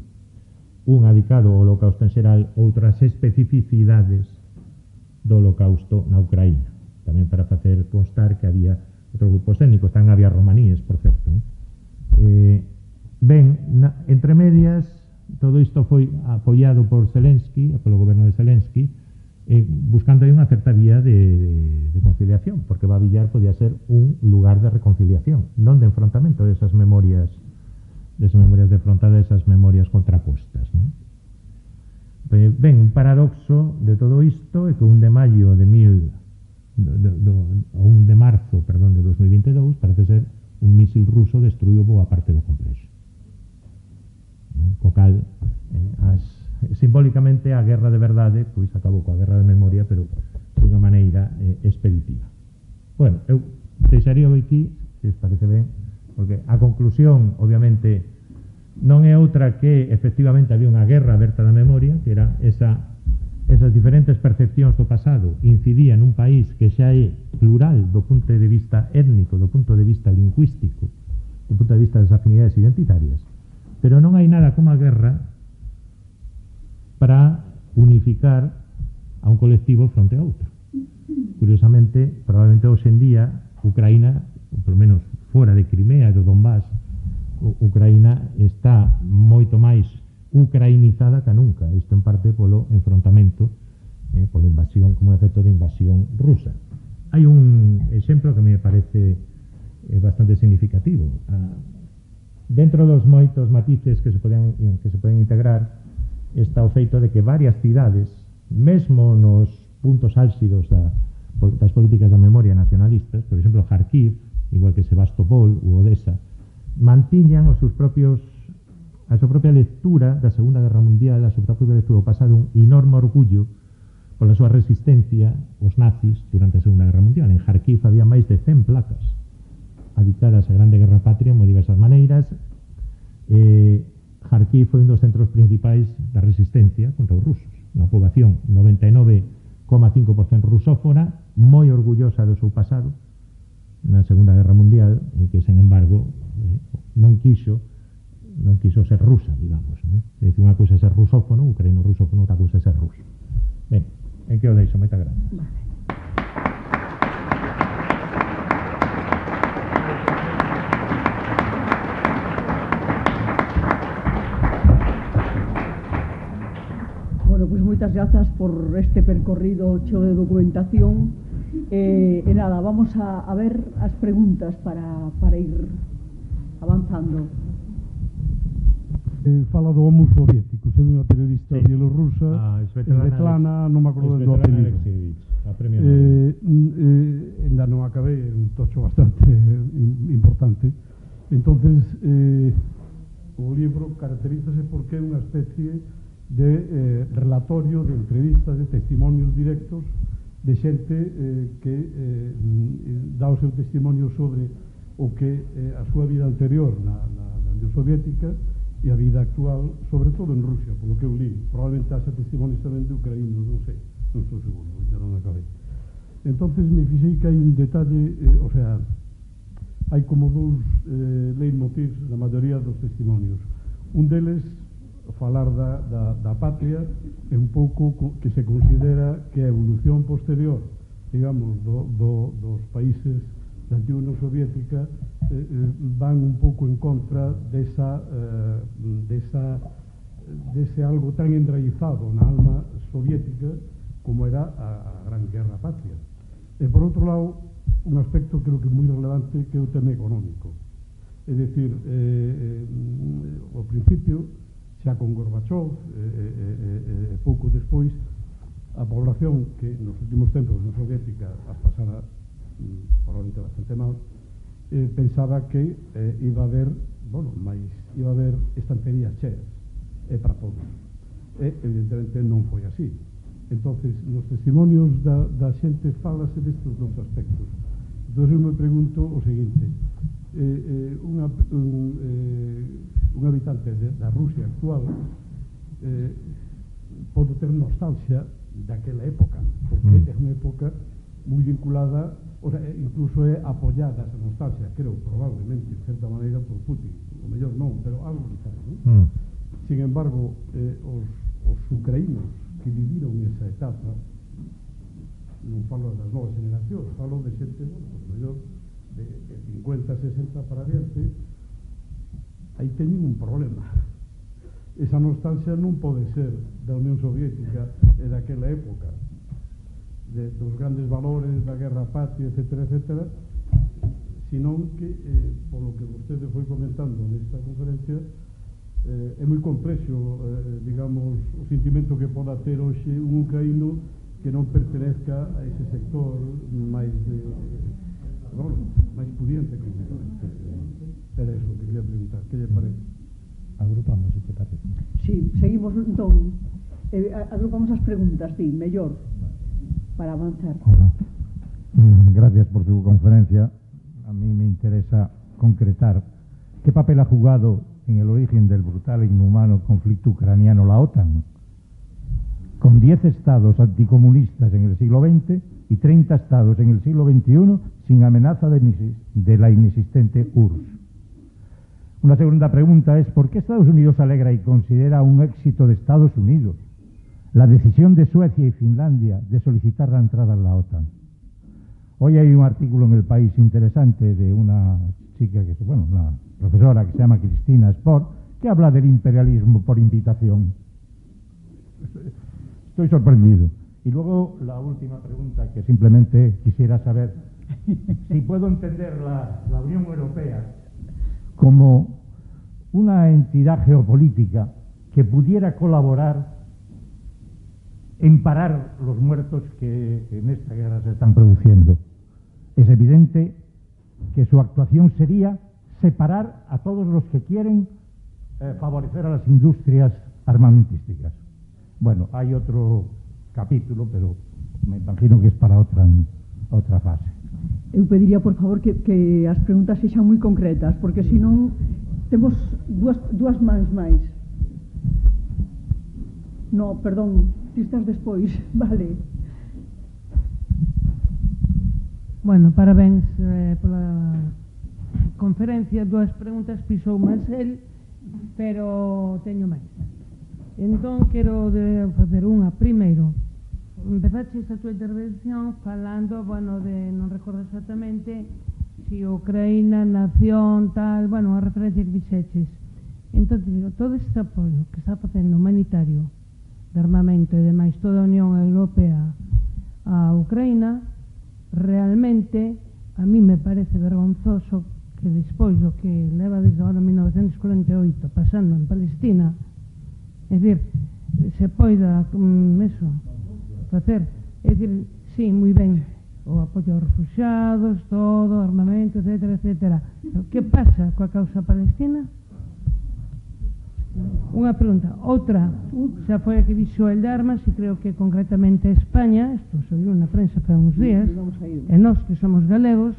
Un dedicado ao holocausto en xeral, outras especificidades do holocausto na Ucraína. Tamén para facer constar que había outros grupos étnicos, tamén había romaníes, por certo. Eh, ben, na, entre medias, todo isto foi apoiado por Zelensky, polo goberno de Zelensky, eh, buscando aí unha certa vía de, de, de conciliación, porque Babi Yar podía ser un lugar de reconciliación, non de enfrontamento de esas memorias, de esas memorias de frontada, de esas memorias contrapostas, ¿no? Ben, un paradoxo de todo isto é que un de maio de mil do, do, do, ou un de marzo, perdón, de dos mil vinte e dous parece ser un mísil ruso destruiu boa parte do complexo. Co cal, eh, as, simbólicamente a guerra de verdade pois acabou coa guerra de memoria, pero de unha maneira eh, expeditiva. Bueno, eu deixaría aquí, se os parece ben, porque a conclusión, obviamente, non é outra que efectivamente había unha guerra aberta da memoria, que era esa, esas diferentes percepcións do pasado incidían nun país que xa é plural do punto de vista étnico, do punto de vista lingüístico, do punto de vista das afinidades identitarias, pero non hai nada como a guerra para unificar a un colectivo fronte a outro. Curiosamente, probablemente hoxe en día Ucraína, ou polo menos fora de Crimea e do Donbass, Ucraína está moito máis ucrainizada que nunca, isto en parte polo enfrontamento, eh, pola invasión, como efecto de invasión rusa. Hai un exemplo que me parece eh, bastante significativo. Ah, dentro dos moitos matices que se poden, que se poden integrar está o feito de que varias cidades, mesmo nos puntos álxidos da, das políticas da memoria nacionalistas, por exemplo, Kharkiv, igual que Sebastopol ou Odessa, mantiñan os seus propios a súa propia lectura da Segunda Guerra Mundial, a súa propia lectura do pasado, un enorme orgullo pola súa resistencia aos nazis durante a Segunda Guerra Mundial. En Kharkiv había máis de cen placas dedicadas á Grande Guerra Patria en moi diversas maneiras. Eh, Kharkiv foi un dos centros principais da resistencia contra os rusos. Unha poboación noventa e nove coma cinco por cento rusófona, moi orgullosa do seu pasado na Segunda Guerra Mundial, e que, sen embargo, eh, non quiso non quiso ser rusa, digamos, non? É dicir, unha cousa é ser rusófono, ucraíno rusófono, outra cousa é ser ruso. Ben, en que o deixo, moita gracias. Vale. Bueno, pois pues moitas grazas por este percorrido cheo de documentación. Eh, e nada, vamos a, a ver as preguntas para, para ir avanzando. Eh, fala do homo soviético, sendo unha periodista sí. bielorrusa, ah, Svetlana, non me acordo do apelido. Eh, eh, ainda non acabei, un tocho bastante importante. Entonces, eh, o libro caracterízase porque é unha especie de eh, relatorio de entrevistas, de testimonios directos de xente eh, que eh, dá o seu testimonio sobre o que eh, a súa vida anterior na, na, na Unión Soviética e a vida actual, sobre todo en Rusia, polo que eu li. Probablemente haxa testimonios tamén de ucraínos, non sei, non estou seguro, ainda non acabei. Entonces me fixei que hai un detalle, eh, o sea, hai como dous eh, leitmotivs na maioría dos testimonios. Un deles, falar da, da, da patria, é un pouco que se considera que a evolución posterior, digamos, do, do, dos países da antiga Unión Soviética eh, eh, van un pouco en contra desa, eh, desa, dese algo tan enraizado na alma soviética como era a, a Gran Guerra Patria. E por outro lado, un aspecto creo que é moi relevante, que é o tema económico. É dicir, eh, eh, ao principio, xa con Gorbachev, e eh, eh, eh, pouco despois, a población que nos últimos tempos na soviética as pasara mm, probablemente bastante mal, eh, pensaba que eh, iba a haber, bueno, máis, iba a haber estanterías cheas, e para todos. E, evidentemente, non foi así. Entonces, nos testimonios da, da xente falase destes dous aspectos. Entón, eu me pregunto o seguinte, eh, eh, unha, un, eh, un habitante de, da Rusia actual eh, pode ter nostalgia daquela época, porque mm. é unha época moi vinculada, o sea, incluso é apoyada esa nostalgia, creo, probablemente, de certa maneira, por Putin, o mellor non, pero algo quizás, non? Mm. Sin embargo, eh, os, os ucraínos que viviron esa etapa, non falo das novas generacións, falo de xente, bueno, o mellor de, de cincuenta, sesenta para adiante, aí teñen un problema. Esa nostalgia non pode ser da Unión Soviética e daquela época, de, dos grandes valores da guerra patria, etcétera, etcétera, senón que, eh, polo que vostede foi comentando nesta conferencia, eh, é moi complexo, eh, digamos, o sentimento que poda ter hoxe un ucraíno que non pertenezca a ese sector máis de, bueno, máis pudiente, concretamente. Era eso que quería preguntar, que lle parece? Agrupamos, se te parece. Sí, seguimos, entón, eh, agrupamos as preguntas, sí, mellor, para avanzar. Hola. Mm, gracias por su conferencia. A mí me interesa concretar qué papel ha jugado en el origen del brutal e inhumano conflicto ucraniano la OTAN, con diez estados anticomunistas en el siglo veinte y treinta estados en el siglo veintiuno sin amenaza de, de la inexistente U R S S. Una segunda pregunta es, ¿por qué Estados Unidos alegra y considera un éxito de Estados Unidos la decisión de Suecia y Finlandia de solicitar la entrada en la OTAN? Hoy hay un artículo en El País interesante de una chica, que bueno, una profesora que se llama Cristina Sport, que habla del imperialismo por invitación. Estoy sorprendido. Y luego la última pregunta, que simplemente quisiera saber si puedo entender la, la Unión Europea como una entidad geopolítica que pudiera colaborar en parar los muertos que en esta guerra se están produciendo. Es evidente que su actuación sería separar a todos los que quieren eh, favorecer a las industrias armamentísticas. Bueno, hay otro capítulo, pero me imagino que es para outra, outra fase. Eu pediría, por favor, que, que as preguntas sexan moi concretas, porque senón temos dúas, dúas mans máis. No, perdón, ti estás despois, vale. Bueno, parabéns eh, pola conferencia, dúas preguntas pisou máis el, pero teño máis. Entón, quero de facer unha. Primeiro, empezaches a túa intervención falando, bueno, de, non recordo exactamente, si Ucraína, nación, tal, bueno, a referencia que fixeches. Entón, digo, todo este apoio que está facendo humanitario, de armamento e demais, toda a Unión Europea a Ucraína, realmente, a mí me parece vergonzoso que despois do que leva desde ahora mil novecentos cuarenta e oito pasando en Palestina, é dicir, se poida, um, eso, facer, é dicir, sí, moi ben, o apoio aos refugiados, todo, armamento, etcétera, etcétera. Que pasa coa causa palestina? Unha pregunta. Outra, xa foi a que dixo el de armas, e creo que concretamente España, isto saliu na prensa para uns días, e nós que somos galegos,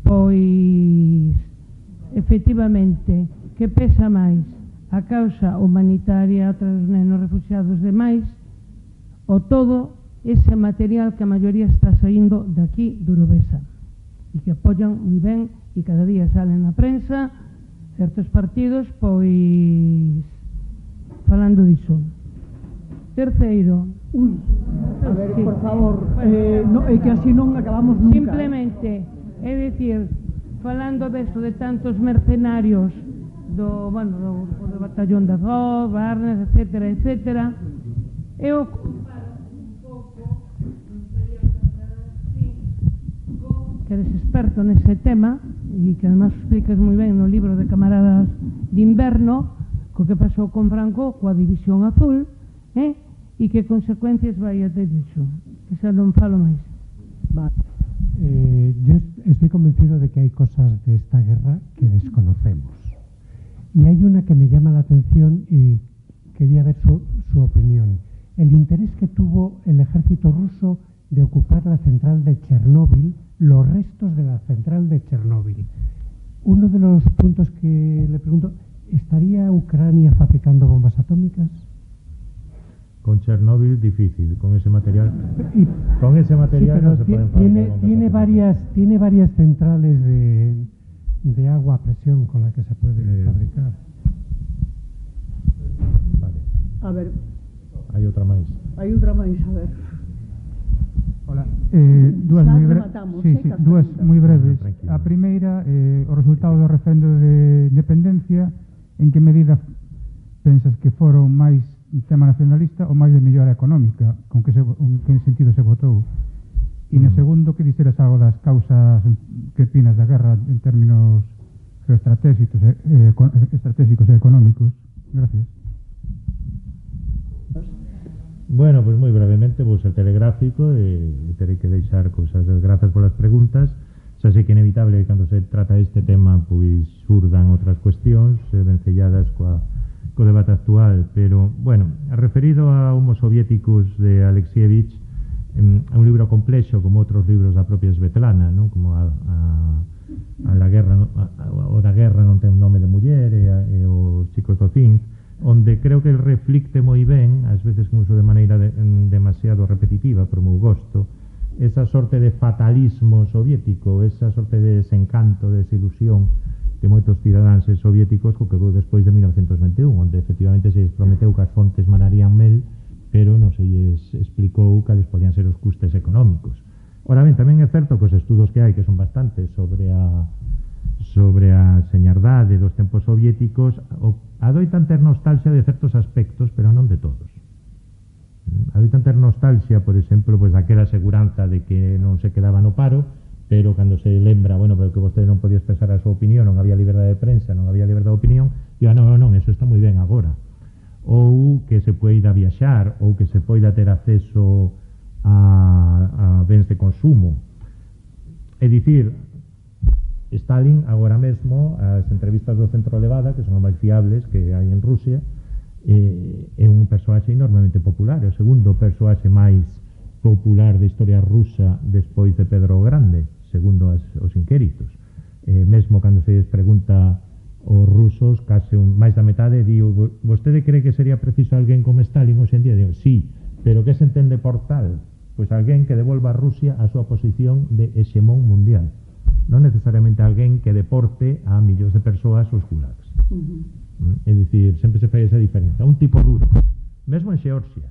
pois, efectivamente, que pesa máis? A causa humanitaria, outros nenos refugiados demais, o todo ese material que a maioría está saindo de aquí, de Urovesa, e que apoian moi ben, e cada día salen na prensa certos partidos, pois, falando diso. Terceiro, Ui, a ver, sí, por favor, eh, no, é que así non acabamos nunca. Simplemente, é dicir, falando deso de tantos mercenarios do, bueno, do, do batallón de Azov, Barnes, etcétera, etcétera, e o comparo un pouco, que eres experto nese tema, e que además explicas moi ben no libro de Camaradas de Inverno, co que pasou con Franco, coa División Azul, eh? E que consecuencias vai a ter iso, que xa non falo máis. Vale. Eh, yo estoy convencido de que hay cosas de esta guerra que desconocemos. Y hay una que me llama la atención y quería ver su, su opinión. El interés que tuvo el ejército ruso de ocupar la central de Chernóbil, los restos de la central de Chernóbil. Uno de los puntos que le pregunto, ¿estaría Ucrania fabricando bombas atómicas? Con Chernóbil difícil, con ese material. Y, con ese material sí, no se pueden fabricar tiene, bombas tiene atómicas. varias, tiene varias centrales de, de agua a presión con la que se puede eh, fabricar. Vale. A ver. Hai outra máis. Hai outra máis, a ver. Hola, eh, dúas moi breves. Sí, sí, dúas moi breves. Ah, a primeira, eh, o resultado do referendo de independencia, en que medida pensas que foron máis un tema nacionalista ou máis de mellora económica, con que, se, con que sentido se votou? E no segundo, que dixeras algo das causas que opinas da guerra en términos geoestratégicos e, eh, estratégicos e económicos. Gracias. Bueno, pues moi brevemente vou ser telegráfico e, e terei que deixar cousas. Grazas polas preguntas. Xa sei que é inevitable que cando se trata este tema pois surdan outras cuestións eh, vencelladas coa, co debate actual, pero, bueno, referido a Homos Soviéticos de Alexievich, eh, é un libro complexo como outros libros da propia Svetlana, non? Como a, a a la guerra, a, a, o da guerra non ten nome de muller, e, a, e os chicos do Cinz, onde creo que el reflicte moi ben, ás veces incluso de maneira de, demasiado repetitiva, por meu gosto, esa sorte de fatalismo soviético, esa sorte de desencanto, de desilusión de moitos cidadáns soviéticos co que veu despois de mil novecentos vinte e un, onde efectivamente se prometeu que as fontes manarían mel, pero non se lles explicou cales podían ser os custes económicos. Ora ben, tamén é certo que os estudos que hai, que son bastantes sobre a sobre a señardade dos tempos soviéticos, adoitan ter nostalgia de certos aspectos, pero non de todos. Adoitan ter nostalgia, por exemplo, pois aquela seguranza de que non se quedaba no paro, pero cando se lembra, bueno, pero que vostede non podía expresar a súa opinión, non había liberdade de prensa, non había liberdade de opinión, e ah, non, non, non, eso está moi ben agora. Ou que se poida viaxar, ou que se poida ter acceso a, a bens de consumo. É dicir, Stalin agora mesmo, as entrevistas do Centro Levada, que son as máis fiables que hai en Rusia, eh, é un persoaxe enormemente popular, é o segundo persoaxe máis popular da historia rusa despois de Pedro o Grande, segundo as, os inquéritos. Eh, mesmo cando se les pregunta aos rusos, case un, máis da metade diu, vostede cree que sería preciso alguén como Stalin hoxe en día? Digo, sí, pero que se entende por tal? Pois alguén que devolva a Rusia a súa posición de hexemón mundial, non necesariamente alguén que deporte a millóns de persoas aos gulags. Uh-huh. É dicir, sempre se fai esa diferencia. Un tipo duro, mesmo en Xeorxia,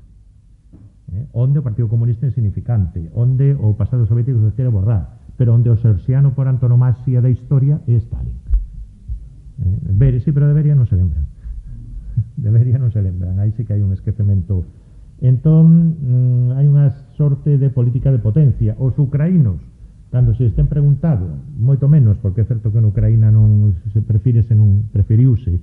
eh, onde o Partido Comunista é insignificante, onde o pasado soviético se quere borrar, pero onde o xeorxiano por antonomasia da historia é Stalin. Eh, ver, sí, pero de Beria non se lembran. De Beria non se lembran, aí sí que hai un esquecemento. Entón, mm, hai unha sorte de política de potencia. Os ucraínos, cando se estén preguntado, moito menos, porque é certo que en Ucraína non se prefírese, non preferiuse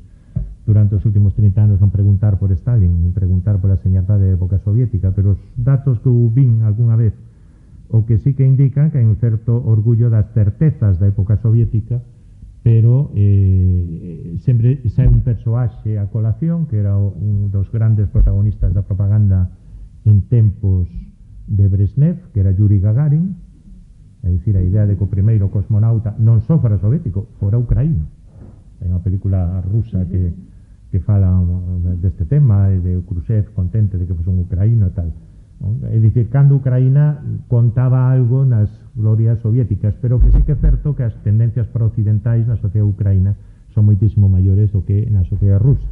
durante os últimos trinta anos non preguntar por Stalin, nin preguntar por a señardade da época soviética, pero os datos que eu vin algunha vez, o que sí que indican que hai un certo orgullo das certezas da época soviética, pero eh, sempre sai un persoaxe a colación, que era un dos grandes protagonistas da propaganda en tempos de Brezhnev, que era Yuri Gagarin, é dicir, a idea de que o primeiro cosmonauta non só fora soviético, fora ucraíno. Hai unha película rusa que, que fala deste tema, de Khrushchev contente de que fose un ucraíno e tal. É dicir, cando Ucraína contaba algo nas glorias soviéticas, pero que sí que é certo que as tendencias pro-occidentais na sociedade ucraína son moitísimo maiores do que na sociedade rusa,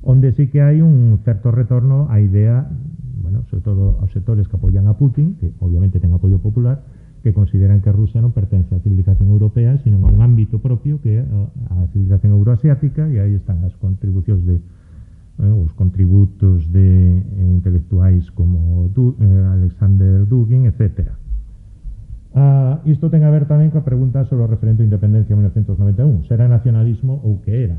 onde sí que hai un certo retorno á idea, bueno, sobre todo aos sectores que apoian a Putin, que obviamente ten apoio popular, que consideran que Rusia non pertence á civilización europea, sino a un ámbito propio que é a civilización euroasiática, e aí están as contribucións de eh, os contributos de eh, intelectuais como du, eh, Alexander Dugin, etcétera. Ah, isto ten a ver tamén coa pregunta sobre o referendo de independencia en mil novecentos noventa e un. Será nacionalismo ou que era?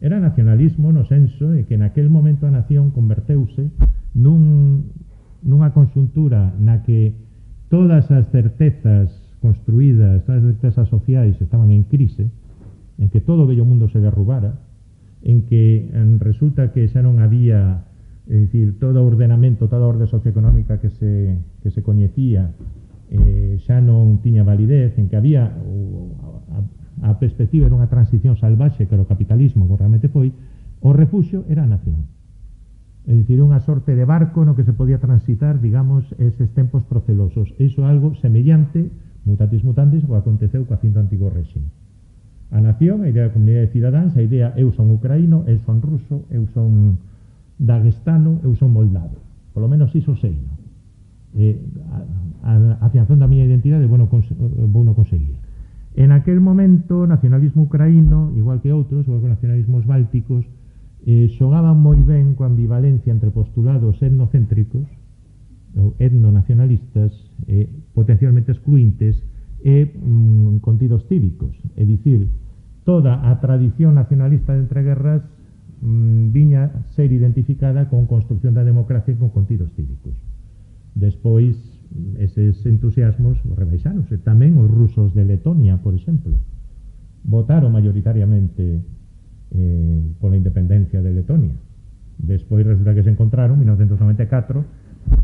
Era nacionalismo no senso de que naquel momento a nación converteuse nun, nunha conxuntura na que todas as certezas construídas, todas as certezas sociais estaban en crise, en que todo o vello mundo se derrubara, en que en, resulta que xa non había, é dicir, todo o ordenamento, toda a orde socioeconómica que se, que se coñecía eh, xa non tiña validez, en que había o, a, a perspectiva era unha transición salvaxe que era o capitalismo, que realmente foi, o refuxio era a nación. É dicir, unha sorte de barco no que se podía transitar, digamos, eses tempos procelosos. Iso é algo semellante, mutatis mutandis, o que aconteceu coa fin do antigo réxime. A nación, a idea da comunidade de cidadáns, a idea eu son ucraíno, eu son ruso, eu son daguestano, eu son moldavo. Por lo menos iso sei, no? Eh, a, a afianzón da miña identidade vou non conseguir. En aquel momento, o nacionalismo ucraíno, igual que outros, igual que os nacionalismos bálticos, eh, xogaban moi ben coa ambivalencia entre postulados etnocéntricos ou etnonacionalistas, eh, potencialmente excluintes, e mm, contidos cívicos. É dicir, toda a tradición nacionalista de entreguerras mm, viña ser identificada con construcción da democracia e con contidos cívicos. Despois, eses entusiasmos rebaixáronse. Tamén os rusos de Letonia, por exemplo, votaron mayoritariamente eh, pola independencia de Letonia. Despois resulta que se encontraron, en mil novecentos noventa e catro,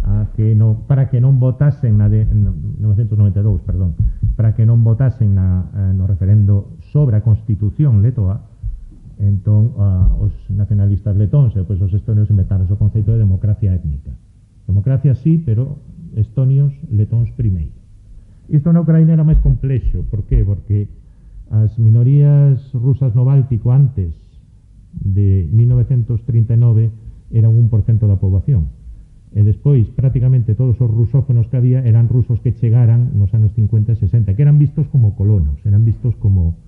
a que no, para que non votasen na de, en mil novecentos noventa e dous, perdón, para que non votasen na, eh, no referendo sobre a Constitución letoa. Entón, uh, os nacionalistas letóns e pois, os estonios inventaron o conceito de democracia étnica. Democracia sí, pero estonios, letóns primeiro. Isto na Ucraína era máis complexo. Por qué? Porque as minorías rusas no Báltico antes de mil novecientos trinta e nove eran un por cento da poboación. E despois, prácticamente todos os rusófonos que había eran rusos que chegaran nos anos cincuenta e sesenta, que eran vistos como colonos, eran vistos como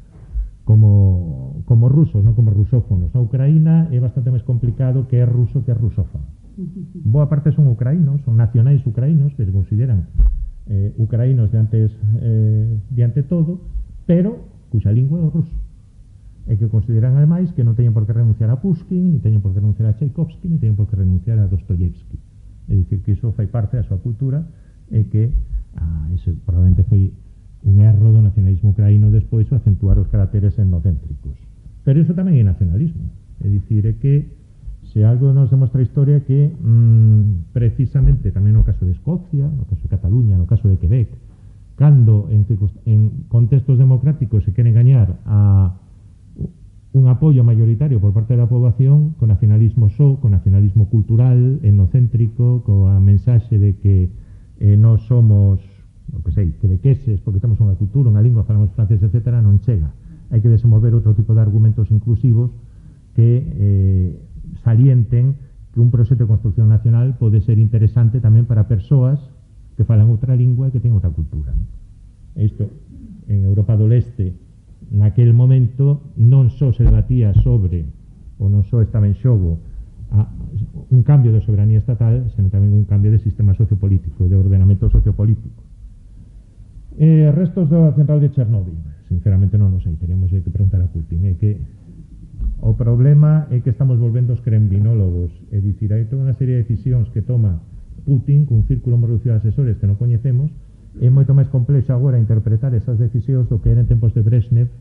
como, como rusos, non como rusófonos. Na Ucraína é bastante máis complicado que é ruso que é rusófono. Boa parte son ucraínos, son nacionais ucraínos, que se consideran eh, ucraínos de antes, eh, de ante todo, pero cuxa lingua é o ruso. E que consideran, ademais, que non teñen por que renunciar a Pushkin, ni teñen por que renunciar a Tchaikovsky, ni teñen por que renunciar a Dostoyevsky. É dicir, que iso fai parte da súa cultura e que ah, iso probablemente foi un erro do nacionalismo ucraíno despois o acentuar os caracteres etnocéntricos. Pero iso tamén é nacionalismo. É dicir, é que se algo nos demostra a historia que mmm, precisamente tamén no caso de Escocia, no caso de Cataluña, no caso de Quebec, cando en, en contextos democráticos se queren gañar a un apoio mayoritario por parte da poboación con nacionalismo só, con nacionalismo cultural, etnocéntrico, coa mensaxe de que eh, nós somos, o que sei, quebequeses, porque temos unha cultura, unha lingua, falamos francés, etcétera, non chega. Hai que desenvolver outro tipo de argumentos inclusivos que eh, salienten que un proxecto de construcción nacional pode ser interesante tamén para persoas que falan outra lingua e que teñen outra cultura. ¿No? E isto, en Europa do Leste, naquel momento, non só se debatía sobre, ou non só estaba en xogo, a, un cambio de soberanía estatal, senón tamén un cambio de sistema sociopolítico, de ordenamento sociopolítico. Eh, restos da central de Chernóbil, sinceramente non o sei, teríamos que preguntar a Putin. É que o problema é que estamos volvendo os kremlinólogos, é dicir, hai toda unha serie de decisións que toma Putin cun círculo moi reducido de asesores que non coñecemos. É moito máis complexo agora interpretar esas decisións do que era en tempos de Brezhnev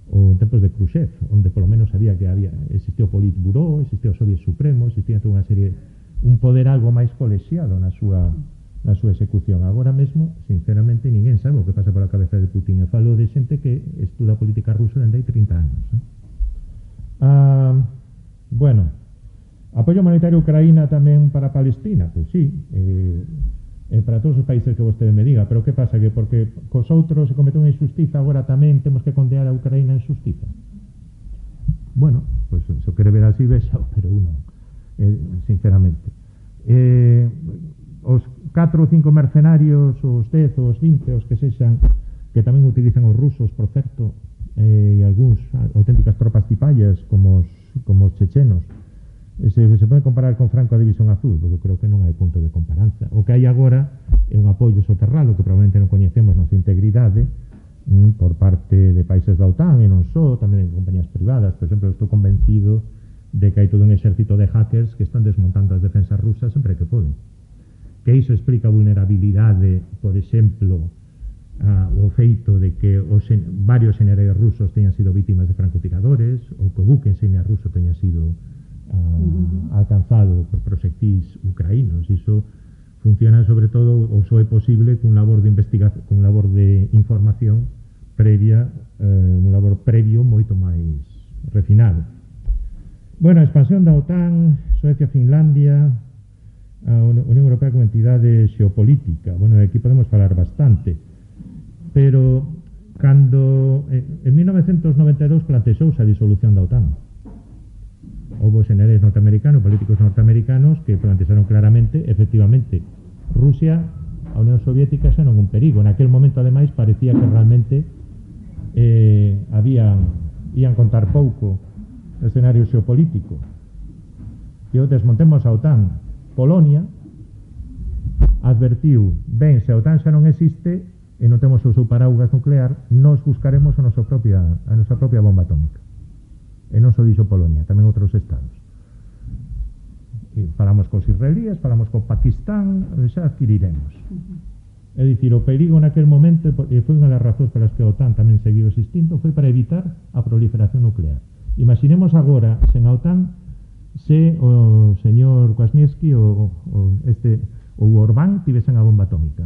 ou en tempos de Khrushchev, onde polo menos sabía que había existía o Politburó, existía o Soviet Supremo, existía toda unha serie, un poder algo máis colexiado na súa na súa execución. Agora mesmo, sinceramente, ninguén sabe o que pasa pola cabeza de Putin. E falo de xente que estuda política rusa dende hai trinta anos. Eh? Ah, bueno, apoio humanitario a Ucraína tamén para Palestina, pois sí, eh, eh, para todos os países que vostede me diga, pero que pasa? Que porque cos outros se comete unha injustiza, agora tamén temos que condear a Ucraína en xustiza? Bueno, pois pues, se o quere ver así, vexao, pero eu non, eh, sinceramente. Eh, os catro ou cinco mercenarios, os dez, os vinte, os que sexan, que tamén utilizan os rusos, por certo, eh, e algúns auténticas tropas cipallas, como os, como os chechenos, Se, se pode comparar con Franco a División Azul, porque eu creo que non hai punto de comparanza. O que hai agora é un apoio soterrado que probablemente non coñecemos na súa integridade mm, por parte de países da OTAN e non só, tamén de compañías privadas. Por exemplo, eu estou convencido de que hai todo un exército de hackers que están desmontando as defensas rusas sempre que poden. Que iso explica a vulnerabilidade, por exemplo, a, o feito de que os en, varios generais rusos teñan sido vítimas de francotiradores, ou que o buque insignia ruso teña sido Uh, alcanzado por proxectís ucraínos. Iso funciona sobre todo, ou só é posible cun labor de investigación, cun labor de información previa, eh, un labor previo moito máis refinado. Bueno, a expansión da OTAN, Suecia, Finlandia, a Unión Europea como entidade xeopolítica. Bueno, aquí podemos falar bastante, pero cando eh, en mil novecientos noventa e dous planteouse a disolución da OTAN. Houve generais norteamericanos, políticos norteamericanos que plantearon claramente, efectivamente, Rusia, a Unión Soviética xa non un perigo. Naquel momento, ademais, parecía que realmente eh, habían, ian contar pouco o escenario xeopolítico. E o desmontemos a OTAN. Polonia advertiu, ben, se a OTAN xa non existe e non temos o seu paraugas nuclear, nos buscaremos a nosa propia, a nosa propia bomba atómica. E non só dixo Polonia, tamén outros estados. E falamos cos israelíes, falamos co Pakistán, xa adquiriremos. É dicir, o perigo naquel momento, e foi unha das razóns para as que a OTAN tamén seguiu existindo, foi para evitar a proliferación nuclear. Imaginemos agora, sen a OTAN, se o señor Kwasniewski ou, ou este ou Orbán tivesen a bomba atómica.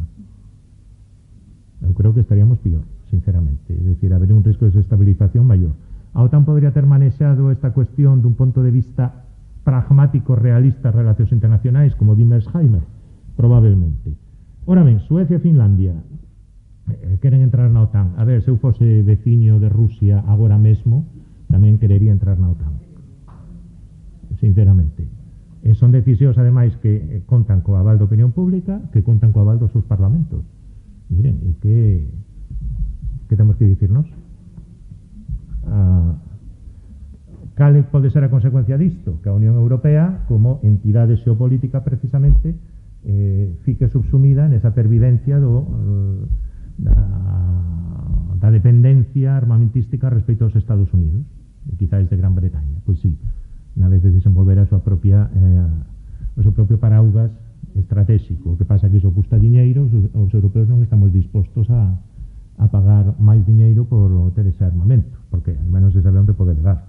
Eu creo creo que estaríamos peor, sinceramente. Es decir, habría un risco de desestabilización mayor. A OTAN podría ter manexado esta cuestión dun punto de vista pragmático, realista, relacións internacionais, como di Mearsheimer, probablemente. Ora ben, Suecia e Finlandia eh, queren entrar na OTAN. A ver, se eu fose veciño de Rusia agora mesmo, tamén querería entrar na OTAN, sinceramente. E son decisións, ademais, que eh, contan co aval da opinión pública, que contan co aval dos seus parlamentos. Miren, e que que temos que dicirnos? Ah, cal pode ser a consecuencia disto? Que a Unión Europea, como entidade xeopolítica precisamente, eh, fique subsumida nesa pervivencia do, eh, da, da dependencia armamentística respecto aos Estados Unidos, e quizáis de Gran Bretaña. Pois sí, na vez de desenvolver a súa propia eh, o seu propio paraugas estratégico. O que pasa que iso custa diñeiro, os, os europeos non estamos dispostos a, a pagar máis diñeiro por ter ese armamento, porque al menos se sabe onde pode levar.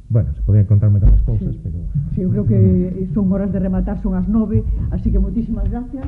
Bueno, se podían contar moitas cousas, sí. pero... Sí, eu creo que son horas de rematar, son as nove, así que moitísimas gracias.